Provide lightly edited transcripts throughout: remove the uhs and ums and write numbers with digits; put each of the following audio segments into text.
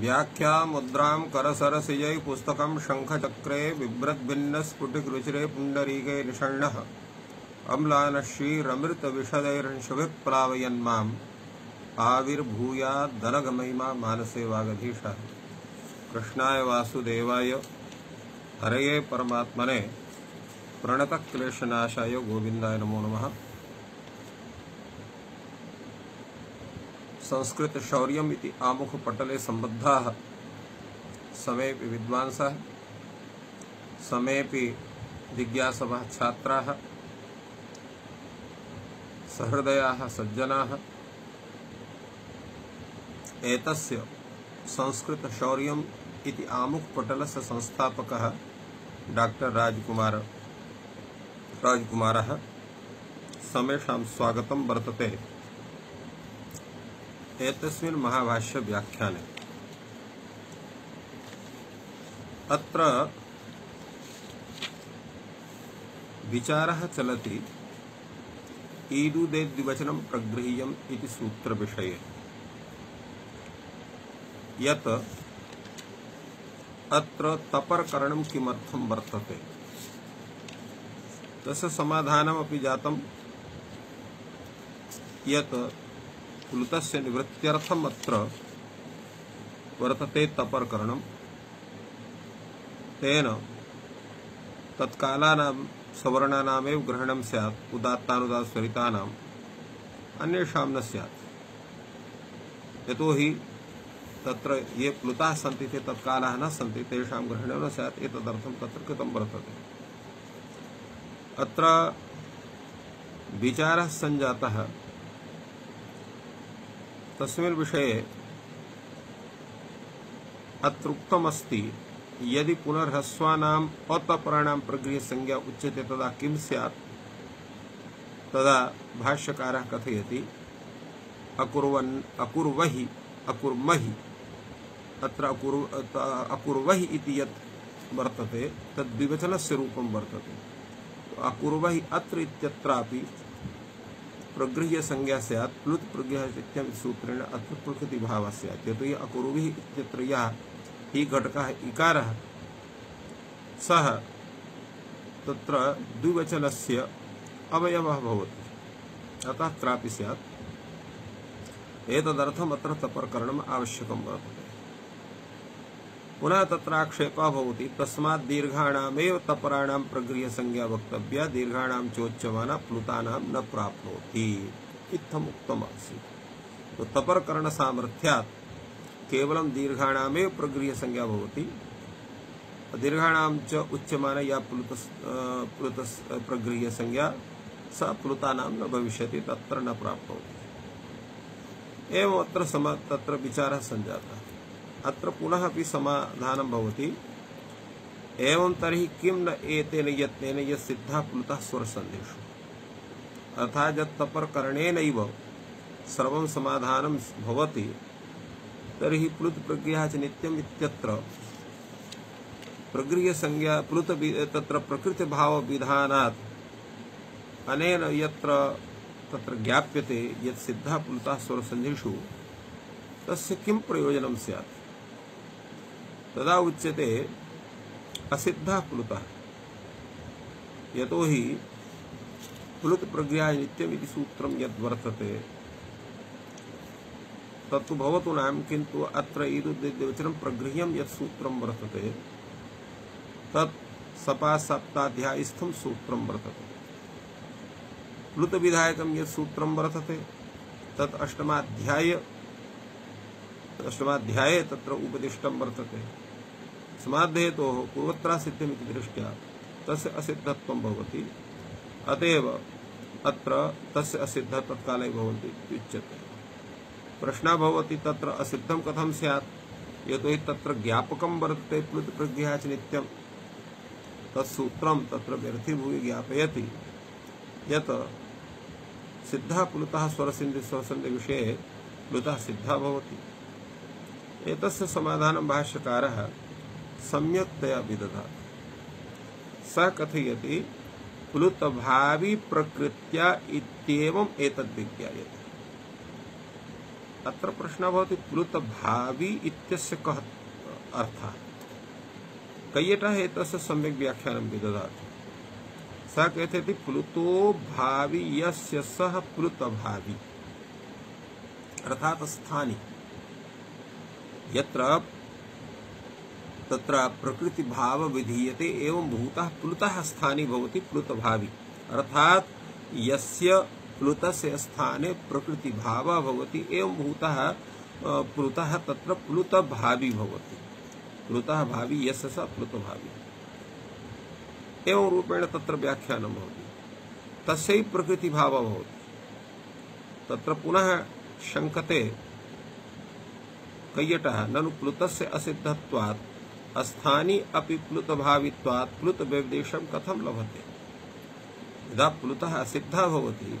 व्याख्या मुद्रां करसरसिजै पुस्तकं शंखचक्रे बिभ्रद्भिन्नस्फुटिकरुचिरे पुण्डरीके निषण्णः अम्लानश्रीरमृतविशदैर्हंसभिप्लावयन्माम् आविर्भूयाद्दनघमहिमा मानसे वागधीशः। कृष्णाय वासुदेवाय हरये परमात्मने प्रणतक्लेशनाशाय गोविंदाय नमो नमः। संस्कृत शौर्यम् इति आमुखपटले सम्बद्धाः समेऽपि विद्वांसः, समेऽपि जिज्ञासवः छात्राः, सहृदयाः सज्जनाः एतस्य संस्कृत शौर्यम् इति आमुखपटलस्य संस्थापकः डॉक्टर राजकुमारः समेषां स्वागतं वर्तते। एतस्मिन् महाभाष्य व्याख्याने अत्र विचारः चलति ईदुदेद्विवचनं प्रगृह्यम् इति सूत्रविषये। यत् अत्र तपर्करणं किमर्थं वर्तते तस्य समाधानमपि जातं। यत् प्लुतस्य निवृत्त्यर्थम् अत्र वर्तते तपर्करणं, तेन तत्कालानां सवर्णानामेव ग्रहणं स्यात्, उदात्तानुदात्तस्वरितानाम् अन्येषां न स्यात्। यतोहि तत्र ये प्लुताः सन्ति ते तत्कालाः न सन्ति, तेषां ग्रहणं न स्यात्, एतदर्थं तत्र कृतं वर्तते। अत्र विचारः सञ्जातः तस्मिन् विषये। अत्र उक्तमस्ति यदि पुनर्ह्रस्वानाम् अतपराणां प्रगृह्यसंज्ञा उच्यते तदा किं स्यात्। तदा भाष्यकारः कथयति अकुर्वहि अत्र अकुर्वहि इति यत् वर्तते तद् द्विवचनस्य रूपं वर्तते। अकुर्वहि अत्र इत्यत्रापि प्रगृह्य संज्ञा स्यात्, प्लुत प्रगृह्य इत्यं सूत्रेण अत्र प्रकृति भावः स्यात्। यतोहि अकुर्वहि इत्यत्र यः हि घटकः इकारः सः तत्र द्विवचनस्य अवयवः भवति, अतः अत्रापि स्यात्। एतदर्थम् अत्र तपर्करणम् आवश्यकं वर्तते। पुनः तत्र आक्षेपः भवति तस्मात् दीर्घाणामेव तपराणां प्रगृह्यसंज्ञा वक्तव्या, दीर्घाणां चोच्यमाना प्लुतानां न प्राप्नोति इत्थम् उक्तमासीत्। तो तपर्करणसामर्थ्यात् केवलं दीर्घाणामेव प्रगृह्यसंज्ञा भवति, दीर्घाणां च उच्यमाना या प्लुतस् प्रगृह्यसंज्ञा सा प्लुतानां न भविष्यति, तत्र न प्राप्नोति। एवम् तत्र विचारः सञ्जातः। अत्र पुनः अपि समाधानं भवति एवं तर्हि किं न एतेन यत्नेन यत्सिद्धः प्लुतः स्वरसन्धिषु। अर्थात् यत् तपर्करणेनैव सर्वं समाधानं भवति तर्हि प्लुत प्रगृह्यः च नित्यम् इत्यत्र प्रगृह्यसंज्ञा प्लुत तत्र प्रकृतिभावविधानात् अनेन यत्र तत्र ज्ञाप्यते यत् सिद्धः प्लुतः स्वरसन्धिषु तस्य किं प्रयोजनं स्यात्। तदा उच्यते असिद्धः प्लुतः, यतोहि प्लुत प्रगृह्यः नित्यम् इति सूत्रं यद्वर्तते तत्तु भवतु नाम, किन्तु अत्र ईदुद्देद्विवचनं प्रगृह्यं यत् सूत्रं वर्तते तत् सपादसप्ताध्यायस्थं सूत्रं वर्तते। प्लुत विधायकं यत् सूत्रं वर्तते तत् अष्टमाध्याये तत्र उपदिष्टं वर्तते। समाद्धेतोः पूर्वत्रा सिद्ध्यमिति दृष्ट्या तस्य असिद्धत्वं भवति, अतएव अत्र तस्य असिद्धः तत्काले भवति इत्युच्यते। प्रश्नः भवति तत्र असिद्धं कथं स्यात्, यतोहि तत्र ज्ञापकं वर्तते प्लुत प्रगृह्यः च नित्यं। तत्सूत्रं तत्र व्यर्थीभूय ज्ञापयति यत् सिद्धः प्लुतः स्वरसन्धि विषये प्लुतः सिद्धः भवति। एतस्य समाधानं भाष्यकारः सम्यक्तया विदधाति। सः कथयति प्लुतभावी प्रकृत्या इत्येवम् एतद् विज्ञायते। अत्र प्रश्नः भवति प्लुत भावी इत्यस्य कः अर्थः। कैयटः एतस्य सम्यक् व्याख्यानं विदधाति। सः कथयति प्लुतो भावी यस्य सः प्लुत भावी, अर्थात् स्थानी यत्र तत्र प्रकृति भाव विधीयते एवं भूतः प्लुतः स्थानी भवति प्लुत भावी, अर्थात् यस्य प्लुतस्य स्थाने प्रकृति भाव भवति एवं भूतः प्लुतः तत्र प्लुत भावी भवति। प्लुतः भावी यस्य स प्लुत भावी एवं रूपेण तत्र व्याख्यानं भवति। तस्यैव प्रकृति भाव भवति। तत्र पुनः शङ्कते कैयटः ननु प्लुतस्य असिद्धत्वात् अस्थानी अपि प्लुत भावित्वात् प्लुत व्यवदेशं कथं लभते। यदा प्लुतः असिद्धः भवति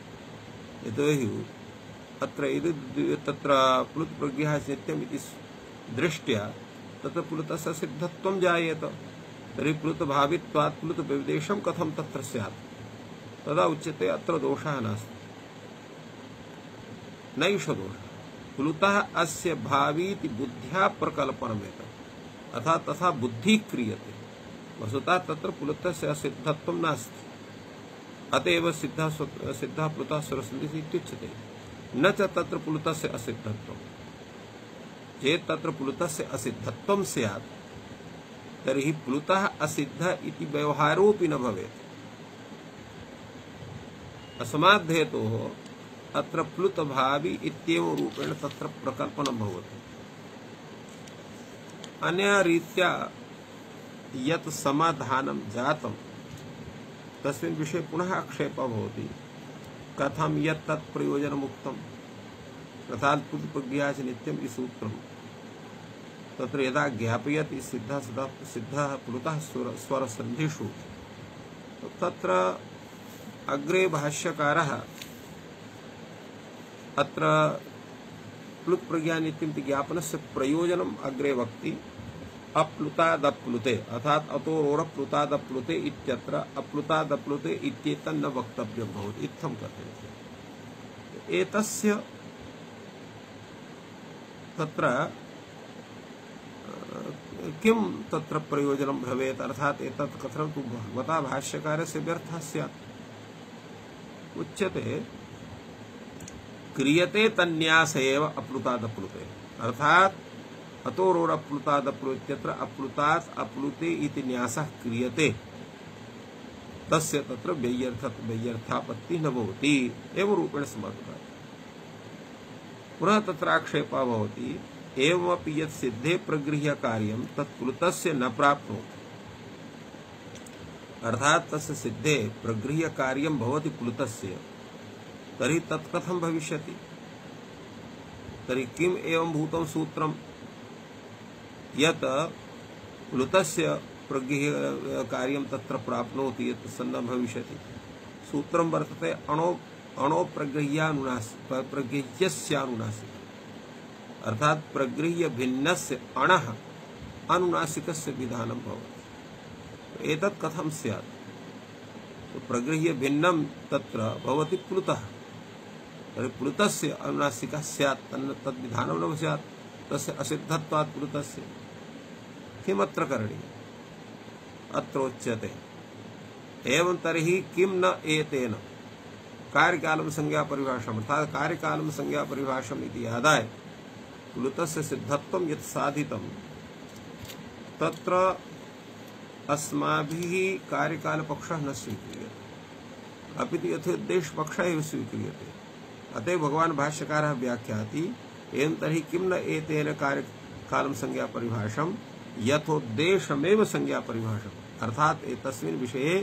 यतोहि अत्र तत्र प्लुत प्रज्ञः नित्यम् इति दृष्ट्या तत्र प्लुतस्य सिद्धत्वं जायेत। तर्हि प्लुत भावित्वात् प्लुत व्यवदेशं कथं तत्र स्यात्। तदा उच्यते अत्र दोषः नास्ति, नैष दोषः। प्लुतः अस्य भावीति बुद्ध्या प्रकल्पनमेतत्, अर्थात् तथा बुद्धिः क्रियते। वस्तुतः तत्र प्लुतस्य असिद्धत्वं नास्ति। अतएव सिद्धः प्लुतः स्वरसन्धिः इत्युच्यते। न च तत्र प्लुतस्य असिद्धत्वं। चेत् तत्र प्लुतस्य असिद्धत्वं स्यात् तर्हि प्लुतः असिद्धः इति व्यवहारोऽपि न भवेत्। अस्माद् हेतोः अत्र प्लुत भावी इत्येव रूपेण तत्र प्रकल्पनं भवति। अन्या रीत्या यत् समाधानं जातं तस्मिन् विषये पुनः आक्षेपः भवति। कथं यत् तत् प्रयोजनमुक्तम्, अर्थात् प्लुत प्रज्ञया च नित्यम् इति सूत्रं तत्र यदा ज्ञापयति सिद्धः प्लुतः स्वरसन्धिषु, तत्र अग्रे भाष्यकारः अत्र प्लुत प्रज्ञा नित्यम् इति ज्ञापनस्य प्रयोजनम् अग्रे वक्ति। अप्लुतादप्लुते अर्थात् अतोरोरप्लुतादप्लुते इत्यत्र अप्लुतादप्लुते इत्येतन्न वक्तव्यं भवति इत्थं कथयति। एतस्य तत्र किं तत्र प्रयोजनं भवेत्, अर्थात् एतत् कथनं तु भगवता भाष्यकारस्य व्यर्थः स्यात्। उच्यते क्रियते तन्न्यास एव अप्लुतादप्लुते, अर्थात् अतोरोरप्लुतादप्लुत्यत्र अप्लुतात् अप्लुते इति न्यासः क्रियते, तस्य तत्र व्यर्थापत्तिः न भवति एवं रूपेण समर्थः। पुनः तत्र आक्षेपः भवति एवमपि यत् सिद्धे प्रगृह्य कार्यं तत् प्लुतस्य न प्राप्नोति, अर्थात् तस्य सिद्धे प्रगृह्य कार्यं भवति प्लुतस्य, तर्हि तत् कथं भविष्यति। तर्हि किम् एवं भूतं सूत्रं यत् प्लुतस्य प्रगृह्य कार्यं तत्र प्राप्नोति यत् सन्न भविष्यति। सूत्रं वर्तते प्रगृह्यस्यानुनासिक, अर्थात् प्रगृह्य भिन्नस्य अणः अनुनासिकस्य विधानं भवति। एतत् कथं स्यात्। तो प्रगृह्य भिन्नं तत्र भवति प्लुतः, तर्हि प्लुतस्य अनुनासिकः स्यात्, तद्विधानं न स्यात्, तस्य असिद्धत्वात् प्लुतस्य। किमत्र करणीयम्। अत्रोच्यते एवं तर्हि किं न एतेन कार्यकालं संज्ञा परिभाषाम्, अर्थात् कार्यकालं संज्ञा परिभाषाम् इति आदाय प्लुतस्य सिद्धत्वं यत् साधितं तत्र अस्माभिः कार्यकालपक्षः न स्वीक्रियते, अपि तु यथोद्देशपक्षः एव स्वीक्रियते। अतः भगवान् भाष्यकारः व्याख्याति एवं तर्हि किं न एतेन कार्यकालं संज्ञा परिभाषाम् यथोद्देशमेव संज्ञा परिभाषाम्, अर्थात् एतस्मिन् विषये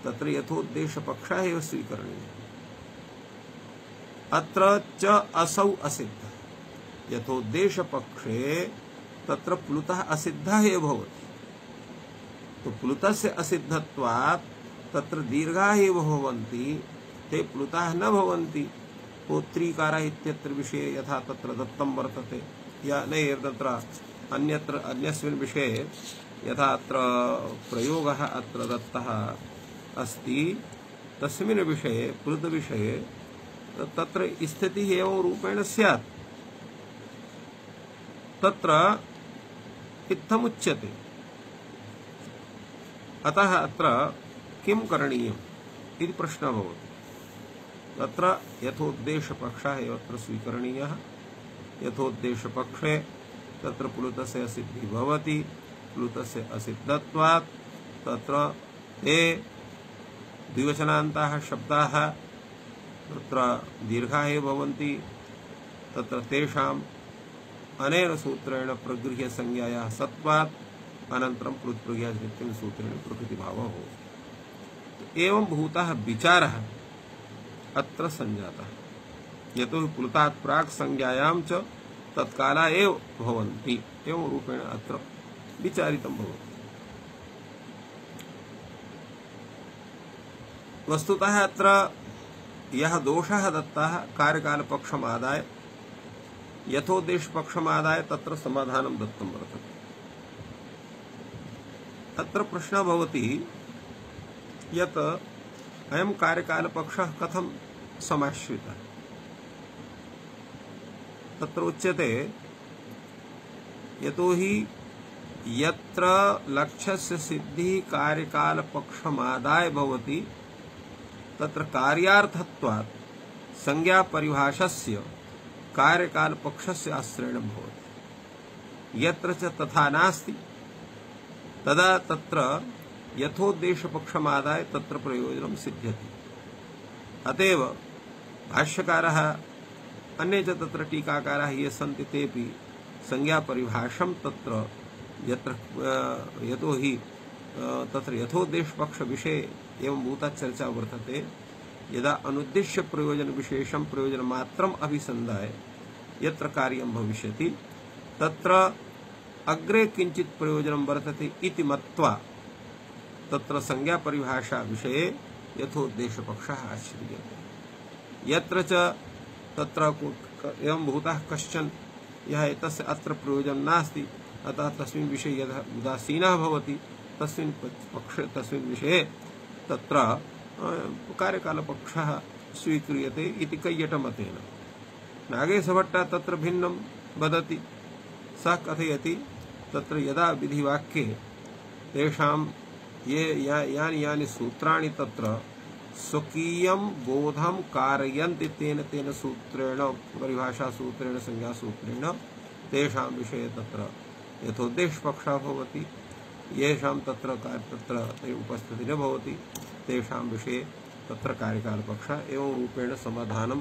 तत्र यथोद्देशपक्षः एव स्वीकरणीयः। अत्र च असौ असिद्धः, यथोद्देशपक्षे तत्र प्लुतः असिद्धः एव भवति। तो प्लुतस्य असिद्धत्वात् तत्र दीर्घाः एव भवन्ति, ते प्लुताः न भवन्ति। पोत्रीकारः इत्यत्र विषये यथा तत्र दत्तं वर्तते, या न तत्र अन्यत्र अन्यस्मिन् विषये यथा अत्र प्रयोगः अत्र दत्तः अस्ति, तस्मिन् विषये प्लुतविषये तत्र स्थितिः एवं रूपेण स्यात्। तत्र इत्थमुच्यते। अतः अत्र किं करणीयम् इति प्रश्नः भवति। तत्र यथोद्देशपक्षः एव अत्र स्वीकरणीयः। यथोद्देशपक्षे तत्र प्लुतस्य असिद्धिः भवति। प्लुतस्य असिद्धत्वात् तत्र ते द्विवचनान्ताः शब्दाः तत्र दीर्घाः एव भवन्ति। तत्र तेषाम् अनेन सूत्रेण प्रगृह्य संज्ञायाः सत्वात् अनन्तरं प्लुत्प्रगृह्यनित्यं सूत्रेण प्रकृतिभावः भवति। एवं भूतः विचारः अत्र सञ्जातः। यतोहि प्लुतात् प्राक् संज्ञायां च तत्काला एव भवन्ति। एवं रूपेण अत्र विचारितं भवति। वस्तुतः अत्र यः दोषः दत्तः कार्यकालपक्षमादाय यथोद्देशपक्षमादाय तत्र समाधानं दत्तं वर्तते। अत्र प्रश्नः भवति यत् अयं कार्यकालपक्षः कथं समाश्रितः। तत्र उच्यते यतोहि यत्र लक्ष्यस्य सिद्धिः कार्यकालपक्षमादाय भवति तत्र कार्यार्थत्वात् संज्ञापरिभाषस्य कार्यकालपक्षस्य आश्रयेण भवति। यत्र च तथा नास्ति तदा तत्र यथोद्देशपक्षमादाय तत्र प्रयोजनं सिद्ध्यति। अतएव भाष्यकारः अन्ये च तत्र टीकाकाराः ये सन्ति तेपि संज्ञापरिभाषं तत्र यत्र यतोहि तत्र यथोद्देशपक्षविषये एवं भूता चर्चा वर्तते। यदा अनुद्देश्य प्रयोजन विशेषं प्रयोजनमात्रम् अभिसन्धाय यत्र कार्यं भविष्यति तत्र अग्रे किञ्चित् प्रयोजनं वर्तते इति मत्वा तत्र संज्ञापरिभाषा विषये यथोद्देशपक्षः आश्रियते। यत्र च तत्र एवं भूतः कश्चन यः एतस्य अत्र प्रयोजनं नास्ति अतः तस्मिन् विषये यदा उदासीनः भवति तस्मिन् पक्षे तस्मिन् विषये तत्र कार्यकालपक्षः स्वीक्रियते इति कैयटमतेन। नागेशभट्टः तत्र भिन्नं वदति। सः कथयति तत्र यदा विधिवाक्ये तेषां यानि यानि सूत्राणि तत्र स्वकीयं बोधं कारयन्ति तेन तेन सूत्रेण परिभाषासूत्रेण संज्ञासूत्रेण तेषां विषये तत्र यथोद्देशपक्षः भवति। येषां तत्र उपस्थितिः न भवति तेषां विषये तत्र कार्यकालपक्षः एवं रूपेण समाधानं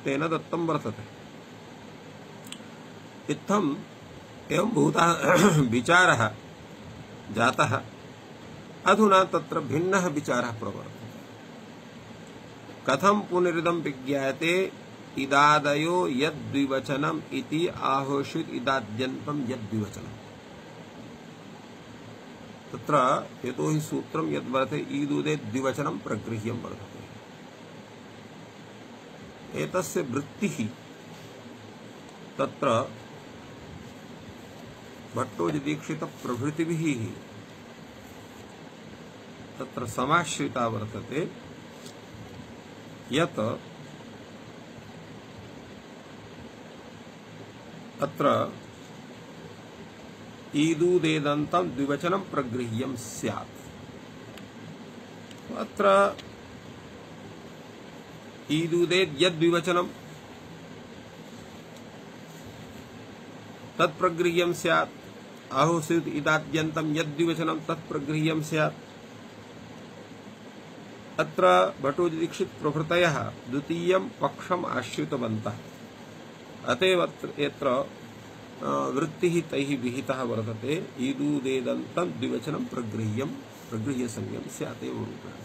तेन दत्तं वर्तते। इत्थम् एवं भूतः विचारः जातः। अधुना तत्र भिन्नः विचारः प्रवर्तते। कथं पुनरिदं विज्ञायते इदादयो यद्विवचनम् इति आहोषित इदाद्यन्तं यद्विवचनम्। तत्र यतोहि सूत्रं यद्वर्तते ईदुदे द्विवचनं प्रगृह्यं वर्तते। एतस्य वृत्तिः तत्र भट्टोजीदीक्षितप्रभृतिभिः तत्र समाश्रिता वर्तते। यत् अत्र ईदुदेदन्तं द्विवचनं प्रगृह्यं स्यात्। अत्र ईदुदेद् यद्विवचनं तत्प्रगृह्यं स्यात्। आहोषित इदाद्यन्तं यद्विवचनं तत्प्रगृह्यं स्यात्। अत्र भट्टोजीदीक्षित प्रभृतयः द्वितीयं पक्षम् आश्रितवन्तः। अतएव यत्र वृत्तिः तैः विहितः वर्तते ईदुदेदन्तं द्विवचनं प्रगृह्य संज्ञं स्यात् एव रूपेण।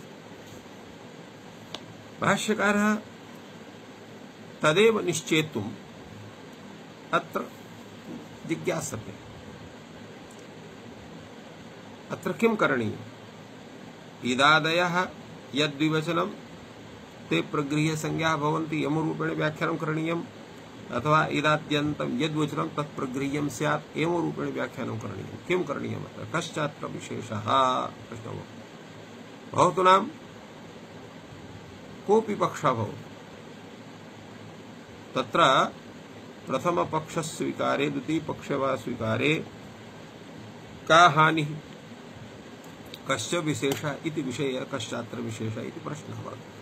भाष्यकारः तदेव निश्चेतुम् अत्र जिज्ञासते। अत्र किं करणीयम्? इदादयः यद्विवचनं ते प्रगृह्य संज्ञाः भवन्ति यमरूपेण व्याख्यानं करणीयम्, अथवा इदाद्यन्तं यद्वचनं तत्प्रगृह्यं स्यात् एवं रूपेण व्याख्यानं करणीयम्। किं करणीयम्? अत्र कश्चात्र विशेषः प्रश्नो भवतु नाम कोऽपि पक्षः भवतु। तत्र प्रथम पक्ष स्वीकारे द्वितीय पक्ष वा स्वीकारे का हानिः कस्य विशेषः इति विषये कश्चात्र विशेषः इति प्रश्नः वर्तते।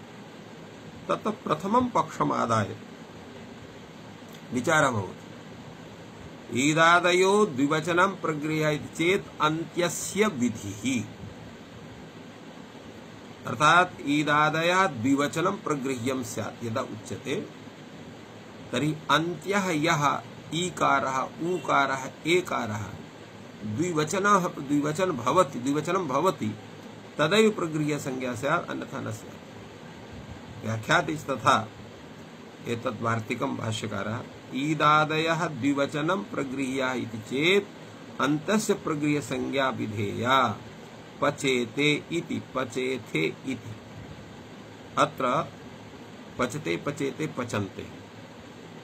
तत्र प्रथमं पक्षमादाय विचारः भवति ईदादयो द्विवचनं प्रगृह्यते चेत् अन्त्यस्य विधिः, अर्थात ईदादयः द्विवचनं प्रगृह्यं स्यात् यदा उच्यते तर्हि अन्त्यः यः ईकारः ऊकारः एकारः द्विवचनं भवति तदैव प्रगृह्य संज्ञा स्यात् अन्यथा न स्यात्। व्याख्याति तथा एतद् वार्तिकं भाष्यकारः ईदादयः द्विवचनं प्रगृह्य इति चेत् अन्तस्य प्रगृह्य संज्ञा विधेया पचेते इति पचेथे इति। अत्र पचते पचेते पचन्ते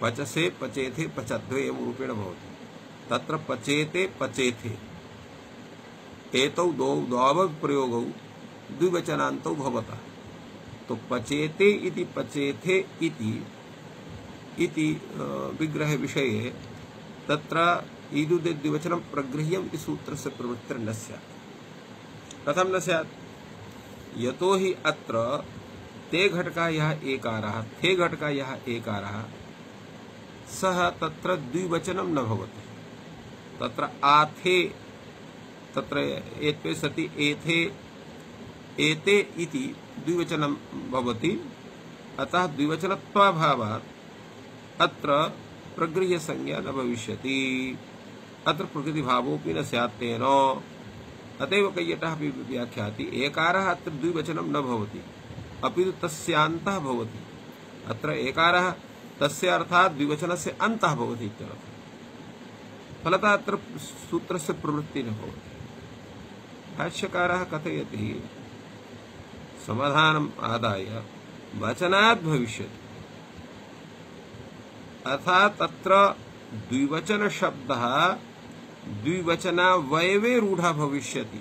पचसे पचेथे पचद्वे एवं रूपेण भवति। तत्र पचेते पचेथे एतौ द्वौ प्रयोगौ द्विवचनान्तौ भवतः। तो पचेते इति पचेथे इति विग्रह विषये तत्र ईदुदे द्विवचनं प्रगृह्यम् इति सूत्रस्य प्रवृत्तिर्न स्यात्। कथं न स्यात्? यतोहि अत्र ते घटका यः एकारः थे घटका यः एकारः सः तत्र द्विवचनं न भवति। तत्र आथे तत्र एत्वे सति एथे एते इति द्विवचनं भवति। अतः द्विवचनत्वाभावात् अत्र प्रगृह्य संज्ञा न भविष्यति। अत्र प्रकृतिभावोऽपि न स्यात् तेन। अतएव कैयटः अपि व्याख्याति एकारः अत्र द्विवचनं न भवति अपि तु तस्यान्तः भवति। अत्र एकारः तस्य अर्थात् द्विवचनस्य अन्तः भवति इत्यर्थः। फलतः अत्र सूत्रस्य प्रवृत्तिः न भवति। भाष्यकारः कथयति समाधानम् आदाय वचनात् भविष्यति, अर्थात् तत्र द्विवचन शब्दः द्विवचनावयवे रूढः भविष्यति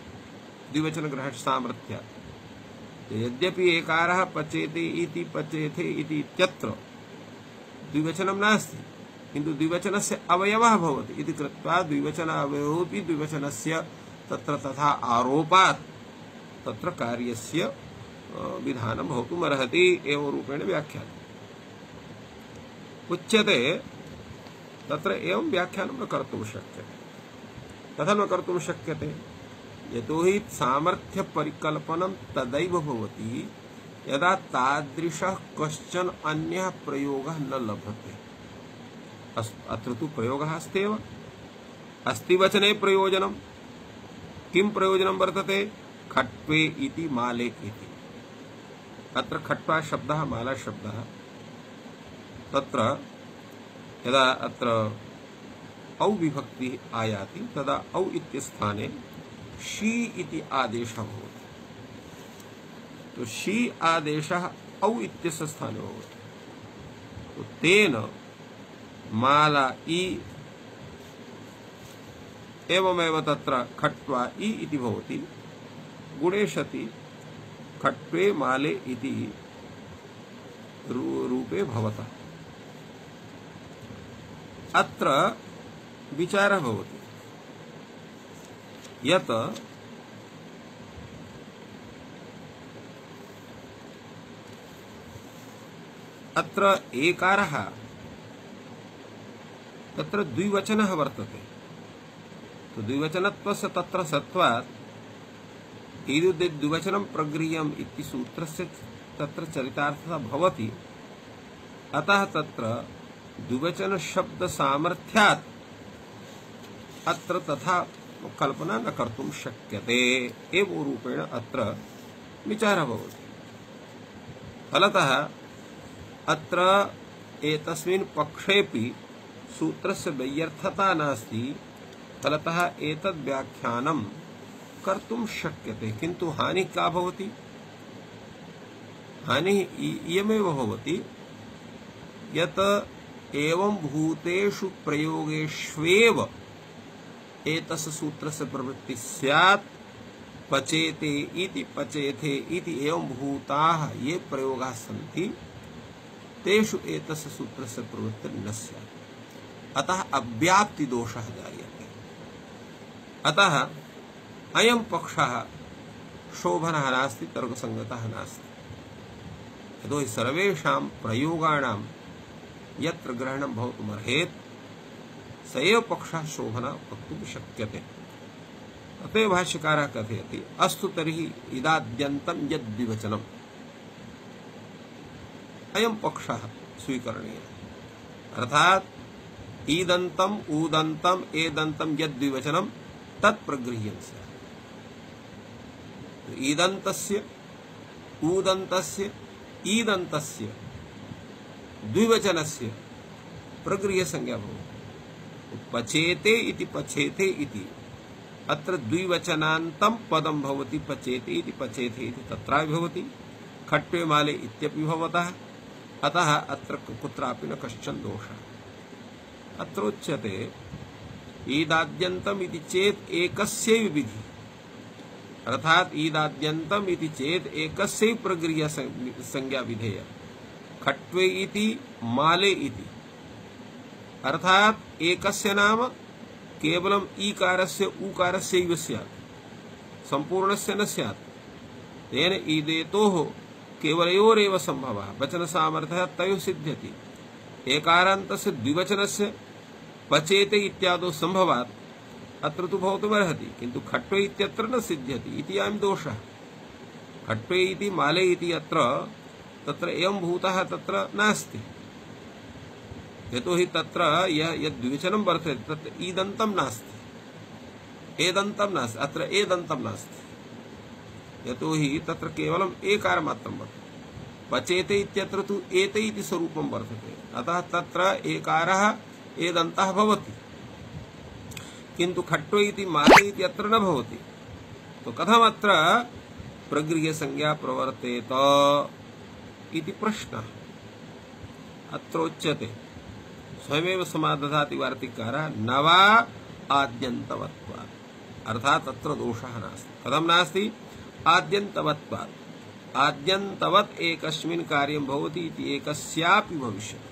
द्विवचन ग्रहण सामर्थ्यात्। यद्यपि एकारः पचेते इति पचेथे इति इत्यत्र द्विवचनं नास्ति किन्तु द्विवचनस्य अवयवः भवति इति कृत्वा द्विवचन अवयवोऽपि द्विवचनस्य तत्र तथा आरोपात् तत्र कार्यस्य विधानं भवितुमर्हति एवं रूपेण व्याख्यानम् उच्यते। तत्र एवं व्याख्यानं न कर्तुं शक्यते। कथं न कर्तुं शक्यते? यतोहि सामर्थ्य परिकल्पनं तदैव भवति यदा तादृशः कश्चन अन्यः प्रयोगः न लभते। अत्र तु प्रयोगः अस्त्येव। अस्ति वचने प्रयोजनं। किं प्रयोजनं वर्तते? खट्वे इति माले इति। अत्र खट्वा शब्दः माला शब्दः तत्र यदा अत्र औ विभक्ति आयाति तदा औ इत्यस्थाने शी इति आदेशः भवति। तो शी आदेशः औ इत्यस्य स्थाने भवति। तो तेन माला इ एवमेव तत्र खट्वा इ इति भवति। गुणे सति खट्वे माले इति रूपे भवतः। अत्र विचारः भवति यत् अत्र एकारः तत्र द्विवचनः वर्तते। तो द्विवचनत्वस्य तत्र सत्वात् ईदुदे द्विवचनं प्रगृह्यम् इति सूत्रस्य तत्र चरितार्थः भवति। अतः तत्र द्विवचन शब्द सामर्थ्यात् अत्र तथा कल्पना न कर्तुं शक्यते एवं रूपेण अत्र विचारः भवति। फलतः अत्र एतस्मिन् पक्षेपि सूत्रस्य वैयर्थता नास्ति। फलतः एतद् व्याख्यानं कर्तुं शक्यते। किन्तु हानिः का भवति? हानिः इयमेव भवति यत् एवं भूतेषु प्रयोगेष्वेव एतस्य सूत्रस्य प्रवृत्ति स्यात्। पचेते इति पचेथे इति एवं भूताः ये प्रयोगाः सन्ति तेषु एतस्य सूत्रस्य प्रवृत्ति न स्यात्। अतः अव्याप्ति दोषः जायते। अतः अयं पक्षः शोभनः नास्ति, तर्कसङ्गतः नास्ति। यतोहि सर्वेषां प्रयोगाणां यत्र ग्रहणं भवितुमर्हेत् स एव पक्षः शोभनः वक्तुं शक्यते। अतएव भाष्यकारः कथयति अस्तु तर्हि इदाद्यन्तं यद्विवचनम् अयं पक्षः स्वीकरणीयः। अर्थात् ईदन्तम् ऊदन्तम् एदन्तं यद्विवचनं तत् प्रगृह्यं स्यात्। ईदन्तस्य ऊदन्तस्य ईदन्तस्य द्विवचनस्य प्रगृह्यसंज्ञा भवति। पचेते इति पचेते इति अत्र द्विवचनान्तं पदं भवति। पचेते इति पचेते इति तत्रापि भवति, खट्वे माले इत्यपि भवतः। अतः अत्र कुत्रापि न कश्चन दोषः। अत्र उच्यते ईदाद्यन्तम् इति चेत् एकस्यैव विधि, अर्थात् ईदाद्यन्तम् इति चेत् एकस्यैव प्रगृह्य संज्ञा विधेय। खट्वे इति माले इति, अर्थात् एकस्य नाम केवलम् ईकारस्य ऊकारस्यैव स्यात्, सम्पूर्णस्य न स्यात्। तेन ईदेतोः केवलयोरेव सम्भवः वचनसामर्थ्यः तयोः सिद्ध्यति। एकारान्तस्य द्विवचनस्य पचेते इत्यादौ सम्भवात् अत्र तु भवितुमर्हति, किन्तु खट्वे इत्यत्र न सिद्ध्यति इति अयं दोषः। खट्वे इति माले इति अत्र तत्र एवं भूतः तत्र नास्ति। यतोहि तत्र यद्विवचनं वर्तते तत्र ईदन्तं नास्ति, एदन्तं नास्ति, अत्र एदन्तं नास्ति। यतोहि तत्र केवलम् एकारमात्रं वर्तते। पचेते इत्यत्र तु एते इति स्वरूपं वर्तते, अतः तत्र एकारः एदन्तः भवति, किन्तु खट्वे इति माले इति अत्र न भवति। तो कथमत्र प्रगृह्यसंज्ञा प्रवर्तेत इति प्रश्नः। अत्र उच्यते स्वयमेव समादधाति वार्तिककारः न वा आद्यन्तवत्वात्, अर्थात् अत्र दोषः नास्ति। कथं नास्ति? आद्यन्तवत्वात्। आद्यन्तवत् एकस्मिन् कार्यं भवति इति एकस्यापि भविष्यति।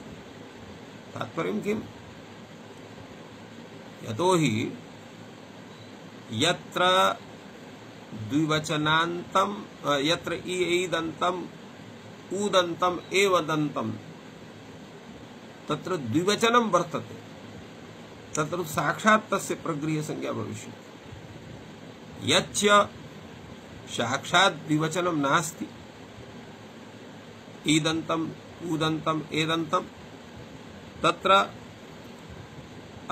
तात्पर्यं किम्? यतोहि यत्र द्विवचनान्तं यत्र ईदन्तम् ऊदन्तम् एवदन्तम् तत्र द्विवचनं वर्तते, तत्र साक्षात् तस्य प्रगृह्यसंज्ञा भविष्यति। यच्च साक्षात् द्विवचनं नास्ति, ईदन्तम् ऊदन्तम् एदन्तम्, तत्र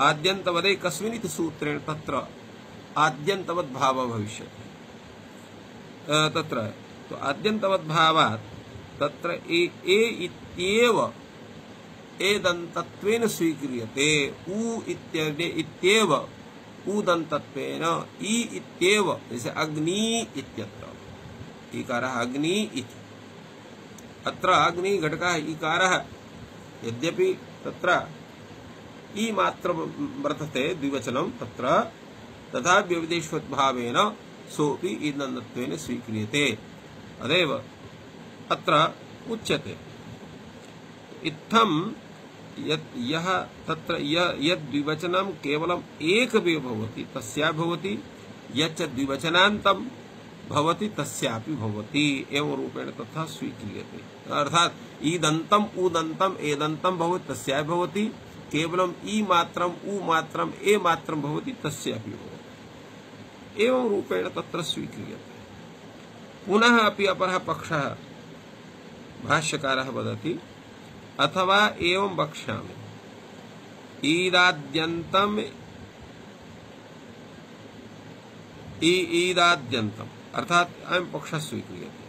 आद्यन्तवदे कस्मिन् इति सूत्रेण तत्र आद्यन्तवद् भावः भविष्यति। तत्र तो आद्यन्तवद्भावात् तत्र ए इत्येव एदन्तत्वेन स्वीक्रियते। उ इत्येव ऊदन्तत्वेन, ई इत्येव, जैसे अग्नि इत्यत्र इकारः अग्नि इति, अत्र अग्नि घटकः इकारः, यद्यपि तत्र ई मात्र वर्तते द्विवचनं तत्र, तथा व्यवदेशवद्भावेन सोऽपि ईदन्तत्वेन स्वीक्रियते। अदेव अत्र उच्यते इत्थं यः तत्र यद्विवचनं केवलम् एकमेव भवति तस्या भवति, यच्च द्विवचनान्तं भवति तस्यापि भवति, एवं रूपेण तथा स्वीक्रियते। अर्थात् ईदन्तम् ऊदन्तम् एदन्तं भवति तस्या भवति, केवलम् ई मात्रम् उ मात्रम् ए मात्रं भवति तस्यापि भवति, एवं रूपेण तत्र स्वीक्रियते। पुनः अपि अपरः पक्षः भाष्यकारः वदति अथवा एवं वक्ष्यामि ईदाद्यन्तम् ईदाद्यन्तम्, अर्थात अयं पक्षः स्वीक्रियते।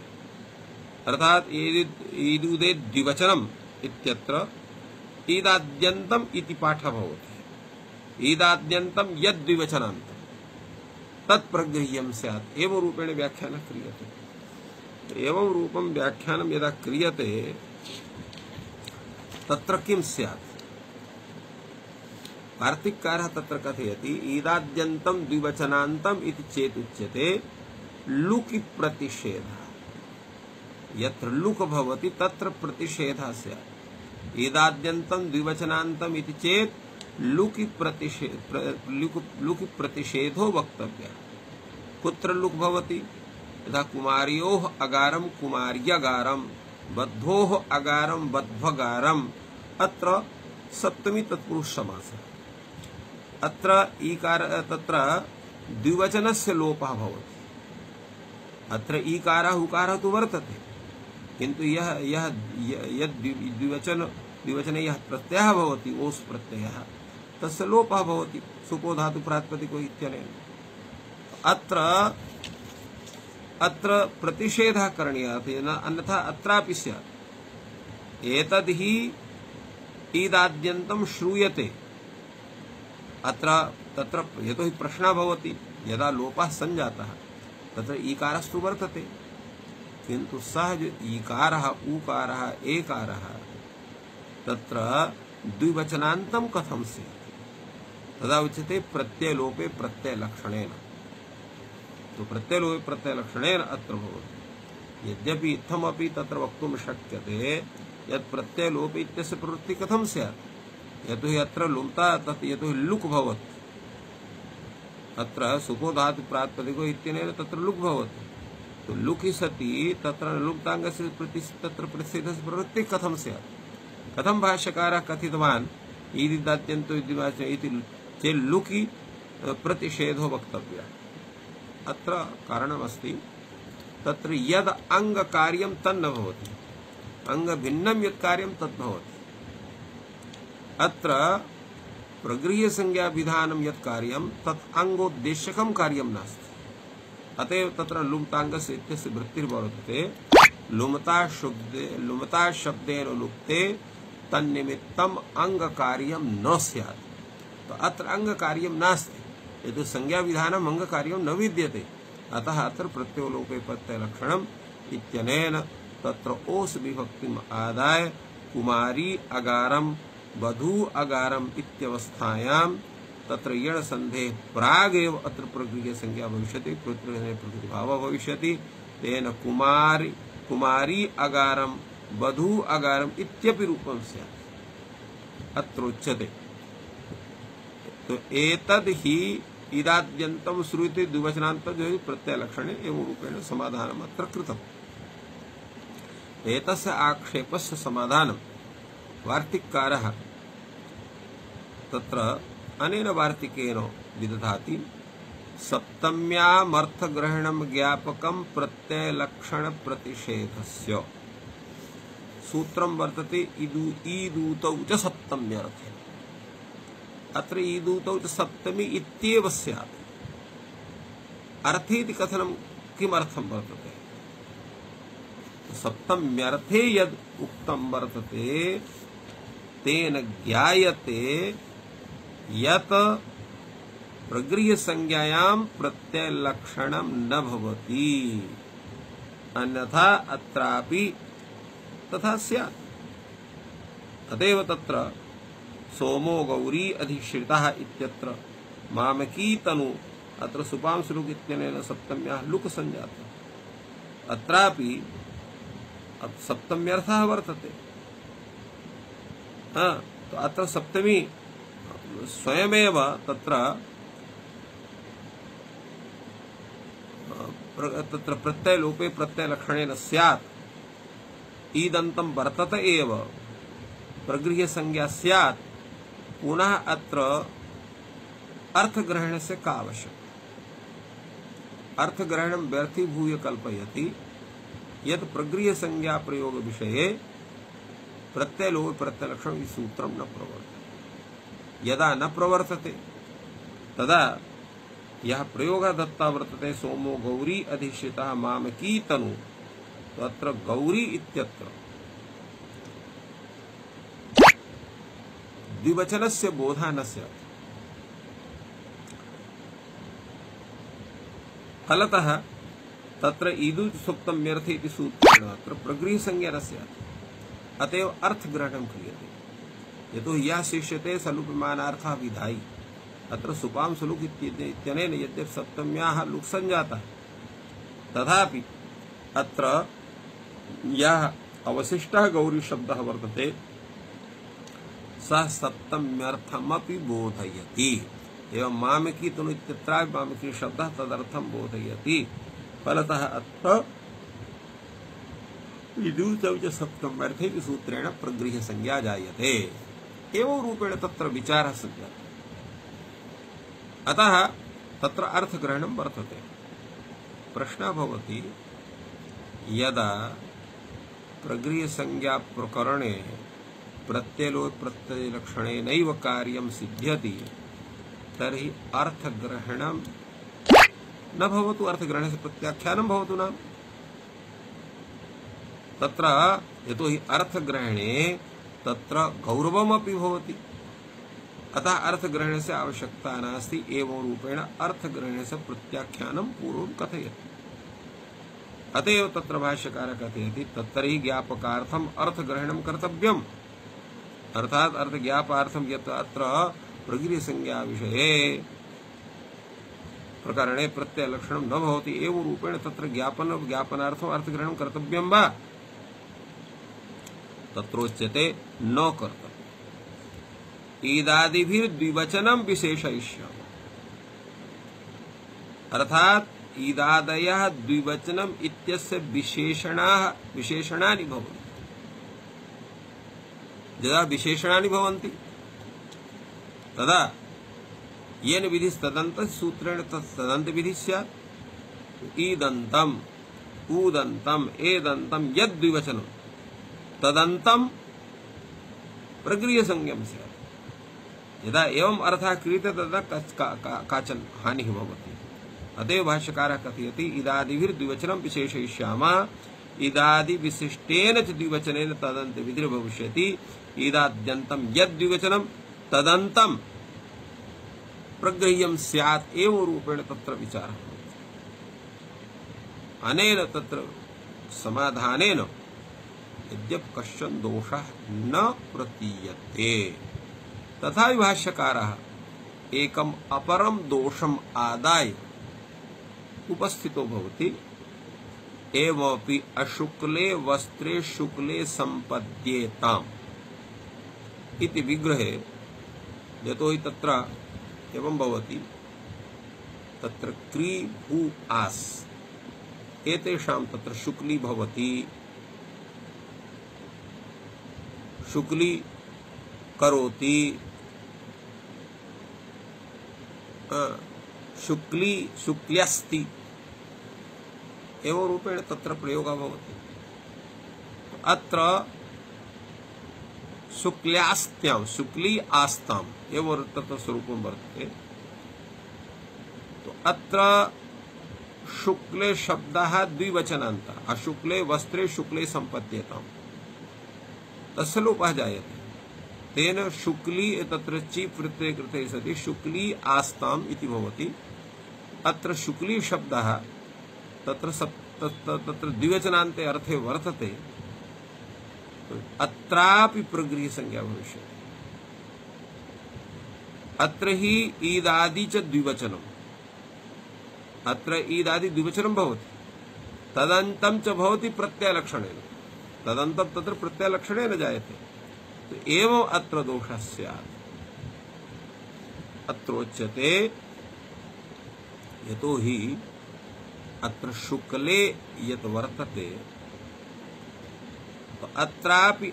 अर्थात ईदुदे द्विवचनम् इत्यत्र ईदाद्यन्तम् इति पाठः भवति। ईदाद्यन्तं यद्द्विवचनान्तं तत्प्रगृह्यं स्यात्, एवं रूपेण व्याख्यानः क्रियते। एवं रूपं व्याख्यानं यदा क्रियते तत्र किं स्यात्? वार्तिककारः तत्र कथयति ईदाद्यन्तं द्विवचनान्तम् इति चेत् उच्यते लुकि प्रतिषेधः। यत्र लुक भवति तत्र प्रतिषेधः स्यात्। ईदाद्यन्तं द्विवचनान्तम् इति चेत् लुकि प्रतिषेधो वक्तव्यः। कुत्र लुक् भवति? यथा कुमार्योः अगारं कुमार्यगारं, बद्धोः अगारं बध्वगारम्। अत्र सप्तमी तत्पुरुष समासः। अत्र ईकार तत्र द्विवचनस्य लोपः भवति। अत्र ईकारः उकारः तु वर्तते, किन्तु द्विवचने यः प्रत्ययः भवति, ओस् प्रत्ययः, तस्य लोपः भवति सुपो धातु प्रातिपदिको इत्यनेन। अत्र प्रतिषेधः करणीयः, अन्यथा अत्रापि स्यात्। एतद् हि ईदाद्यन्तं श्रूयते। अत्र तत्र यतो हि प्रश्नः भवति, यदा लोपः सञ्जातः तत्र ईकारस्तु वर्तते, किन्तु सः ईकारः ऊकारः एकारः तत्र द्विवचनान्तं कथं स्यात्? तदा उच्यते प्रत्ययलोपे प्रत्ययलक्षणेन। तो प्रत्ययलोपे प्रत्ययलक्षणेन अत्र भवति। यद्यपि इत्थमपि तत्र वक्तुं शक्यते यत् प्रत्ययलोपे इत्यस्य प्रवृत्तिः कथं स्यात्? यतो हि अत्र लुम्ता तत् यतो हि लुक् भवति। अत्र सुपो धातु प्रातिपदिको इत्यनेन तत्र लुक् भवति। तो लुकि सति तत्र लुप्ताङ्गस्य तत्र प्रतिषेधस्य प्रवृत्तिः कथं स्यात्? कथं भाष्यकारः कथितवान् ईदिदाद्यन्तो इति चेत् लुकि प्रतिषेधो वक्तव्यः। अत्र कारणमस्ति, तत्र यद् अङ्गकार्यं तन्न भवति, अङ्गभिन्नं यत् कार्यं तद् भवति। अत्र प्रगृह्यसंज्ञाविधानं यत् कार्यं तत् अङ्गोद्देश्यकं कार्यं नास्ति। अतएव तत्र लुम्ताङ्गस्य इत्यस्य वृत्तिर्वर्तते। लुमता शब्देन लुप्ते तन्निमित्तम् अङ्गकार्यं न स्यात्। तो अत्र अङ्गकार्यं नास्ति, यतो संज्ञाविधानम् अङ्गकार्यं न विद्यते। अतः अत्र प्रत्ययलोपे प्रत्ययलक्षणम् इत्यनेन तत्र ओस् विभक्तिम् आदाय कुमारी अगारं वधू अगारम् इत्यवस्थायां तत्र यण सन्धेः प्रागेव अत्र प्रगृह्य संज्ञा भविष्यति, प्रकृतिभावः भविष्यति। तेन कुमारी अगारं वधू अगारम् इत्यपि रूपं स्यात् अत्र उच्यते। तो एतद् हि इदाद्यन्तं श्रूयते द्विवचनान्तं प्रत्ययलक्षणे एवं रूपेण समाधानम् अत्र कृतम्। एतस्य आक्षेपस्य समाधानं वार्तिककारः तत्र अनेन वार्तिकेन विदधाति। सप्तम्यामर्थग्रहणं ज्ञापकं प्रत्ययलक्षण प्रतिषेधस्य सूत्रं वर्तते ईदूतौ च सप्तम्यर्थे। अत्र ईदूतौ च सप्तमी इत्येव स्यात्। अर्थे इति कथनं किमर्थं वर्तते? सप्तम्यर्थे यद् उक्तं वर्तते तेन ज्ञायते यत् प्रगृह्यसंज्ञायां प्रत्ययलक्षणं न भवति, अन्यथा अत्रापि तथा स्यात्। तदेव तत्र सोमो गौरी अधिश्रितः इत्यत्र मामकी तनु अत्र सुपांशुलुक इत्यनेन सप्तम्याः लुक् सञ्जातः। अत्रापि सप्तम्यर्थः वर्तते। तो अत्र सप्तमी स्वयमेव तत्र प्रत्ययलोपे प्रत्ययलक्षणेन स्यात्। ईदन्तं वर्तत एव प्रगृह्यसंज्ञा स्यात्। पुनः अत्र अर्थग्रहणस्य का आवश्यकता? अर्थग्रहणं व्यर्थीभूय कल्पयति यत् प्रगृह्यसंज्ञा प्रयोग विषये प्रत्ययलोपे प्रत्ययलक्षणं सूत्रं न प्रवर्तते। यदा न प्रवर्तते तदा यः प्रयोगः दत्ता वर्तते सोमो गौरी अधिश्रितः मामकी तनु, तो अत्र गौरी इत्यत्र द्विवचनस्य बोधः न स्यात्। फलतः तत्र ईदुज सुप्तम्यर्थे इति सूत्रेण अत्र प्रगृह्यसंज्ञा न स्यात्। अतएव अर्थग्रहणं क्रियते। यतो हि यः शिष्यते सलुपमानार्थः विधायि। अत्र सुपां सुलुक इत्यनेन यद्यपि सप्तम्याः लुक् सञ्जातः, तथापि अत्र यः अवशिष्टः गौरी शब्दः वर्तते सः सप्तम्यर्थमपि बोधयति। एवं मामकी तनु इत्यत्रापि मामकी शब्दः तदर्थं बोधयति। फलतः अत्र विदूतं च सप्तम्यर्थे इति सूत्रेण प्रगृह्य संज्ञा जायते। एवं रूपेण तत्र विचारः सञ्जातः। अतः तत्र अर्थग्रहणं वर्तते। प्रश्नः भवति, यदा प्रगृह्यसंज्ञा प्रकरणे प्रत्यलोप प्रत्ययलक्षणेनैव कार्यं सिद्ध्यति तर्हि अर्थग्रहणं न भवतु, अर्थग्रहणस्य प्रत्याख्यानं भवतु न। तत्र यतोहि अर्थग्रहणे तत्र गौरवमपि भवति, अतः अर्थग्रहणस्य आवश्यकता नास्ति। एवं रूपेण अर्थग्रहणस्य प्रत्याख्यानं पूर्वं कथयति। अतएव तत्र भाष्यकारः कथयति तत्तर्हि ज्ञापकार्थम् अर्थग्रहणं कर्तव्यम्। अर्थात् अर्थज्ञापार्थं यत् अत्र प्रगृह्यसंज्ञा विषये प्रकरणे प्रत्ययलक्षणं न भवति, एवं रूपेण तत्र ज्ञापनार्थम् अर्थग्रहणं कर्तव्यं वा? तत्रोच्यते न कर्तव्यम्। ईदादिभिर्द्विवचनं विशेषयिष्यामः। अर्थात् ईदादयः द्विवचनम् इत्यस्य विशेषणानि भवन्ति। यदा विशेषणानि भवन्ति तदा येन विधिस्तदन्त सूत्रेण तदन्त विधि स्यात्। ईदन्तम् ऊदन्तम् एदन्तम् यद्द्विवचनं तदन्तं प्रगृह्यसंज्ञं स्यात्। यदा एवं अर्थः क्रियते तदा काचन हानिः भवति। अतएव भाष्यकारः कथयति इदादिभिर्द्विवचनं विशेषयिष्यामः। इदादि विशिष्टेन च द्विवचनेन तदन्त विधिर्भविष्यति। इदाद्यन्तं यद्द्विवचनं तदन्तं प्रगृह्यं स्यात्। एवं रूपेण तत्र विचारः भवति। अनेन तत्र समाधानेन यद्यपि कश्चन दोषः न प्रतीयते, तथापि भाष्यकारः एकम् अपरं दोषम् आदाय उपस्थितो भवति। एवमपि अशुक्ले वस्त्रे शुक्ले सम्पद्येताम् इति विग्रहे, यतोहि तत्र एवं भवति तत्र क्री भू आस् एतेषां तत्र शुक्ली भवति। शुक्ली करोति, शुक्ली शुक्ल्यस्ति, एवं रूपेण तत्र प्रयोगः भवति। अत्र शुक्ल्यास्त्यां शुक्ली आस्ताम् एवं तत्र स्वरूपं वर्तते। तो अत्र शुक्ले शब्दः द्विवचनान्तः। अशुक्ले वस्त्रे शुक्ले सम्पद्येताम् तस्य लोपः जायते। तेन शुक्ली तत्र ची प्रत्यये कृते सति शुक्ली आस्ताम् इति भवति। अत्र शुक्ली शब्दः तत्र द्विवचनान्ते अर्थे वर्तते। अत्रापि प्रगृह्यसंज्ञा भविष्यति। अत्र हि ईदादि च द्विवचनम्। अत्र ईदादि द्विवचनं भवति, तदन्तं च भवति प्रत्ययलक्षणेन। तदन्तं तत्र प्रत्ययलक्षणेन जायते। तो एवं अत्र दोषः स्यात्। अत्रोच्यते यतोहि अत्र शुक्ले यत् वर्तते तो अत्रापि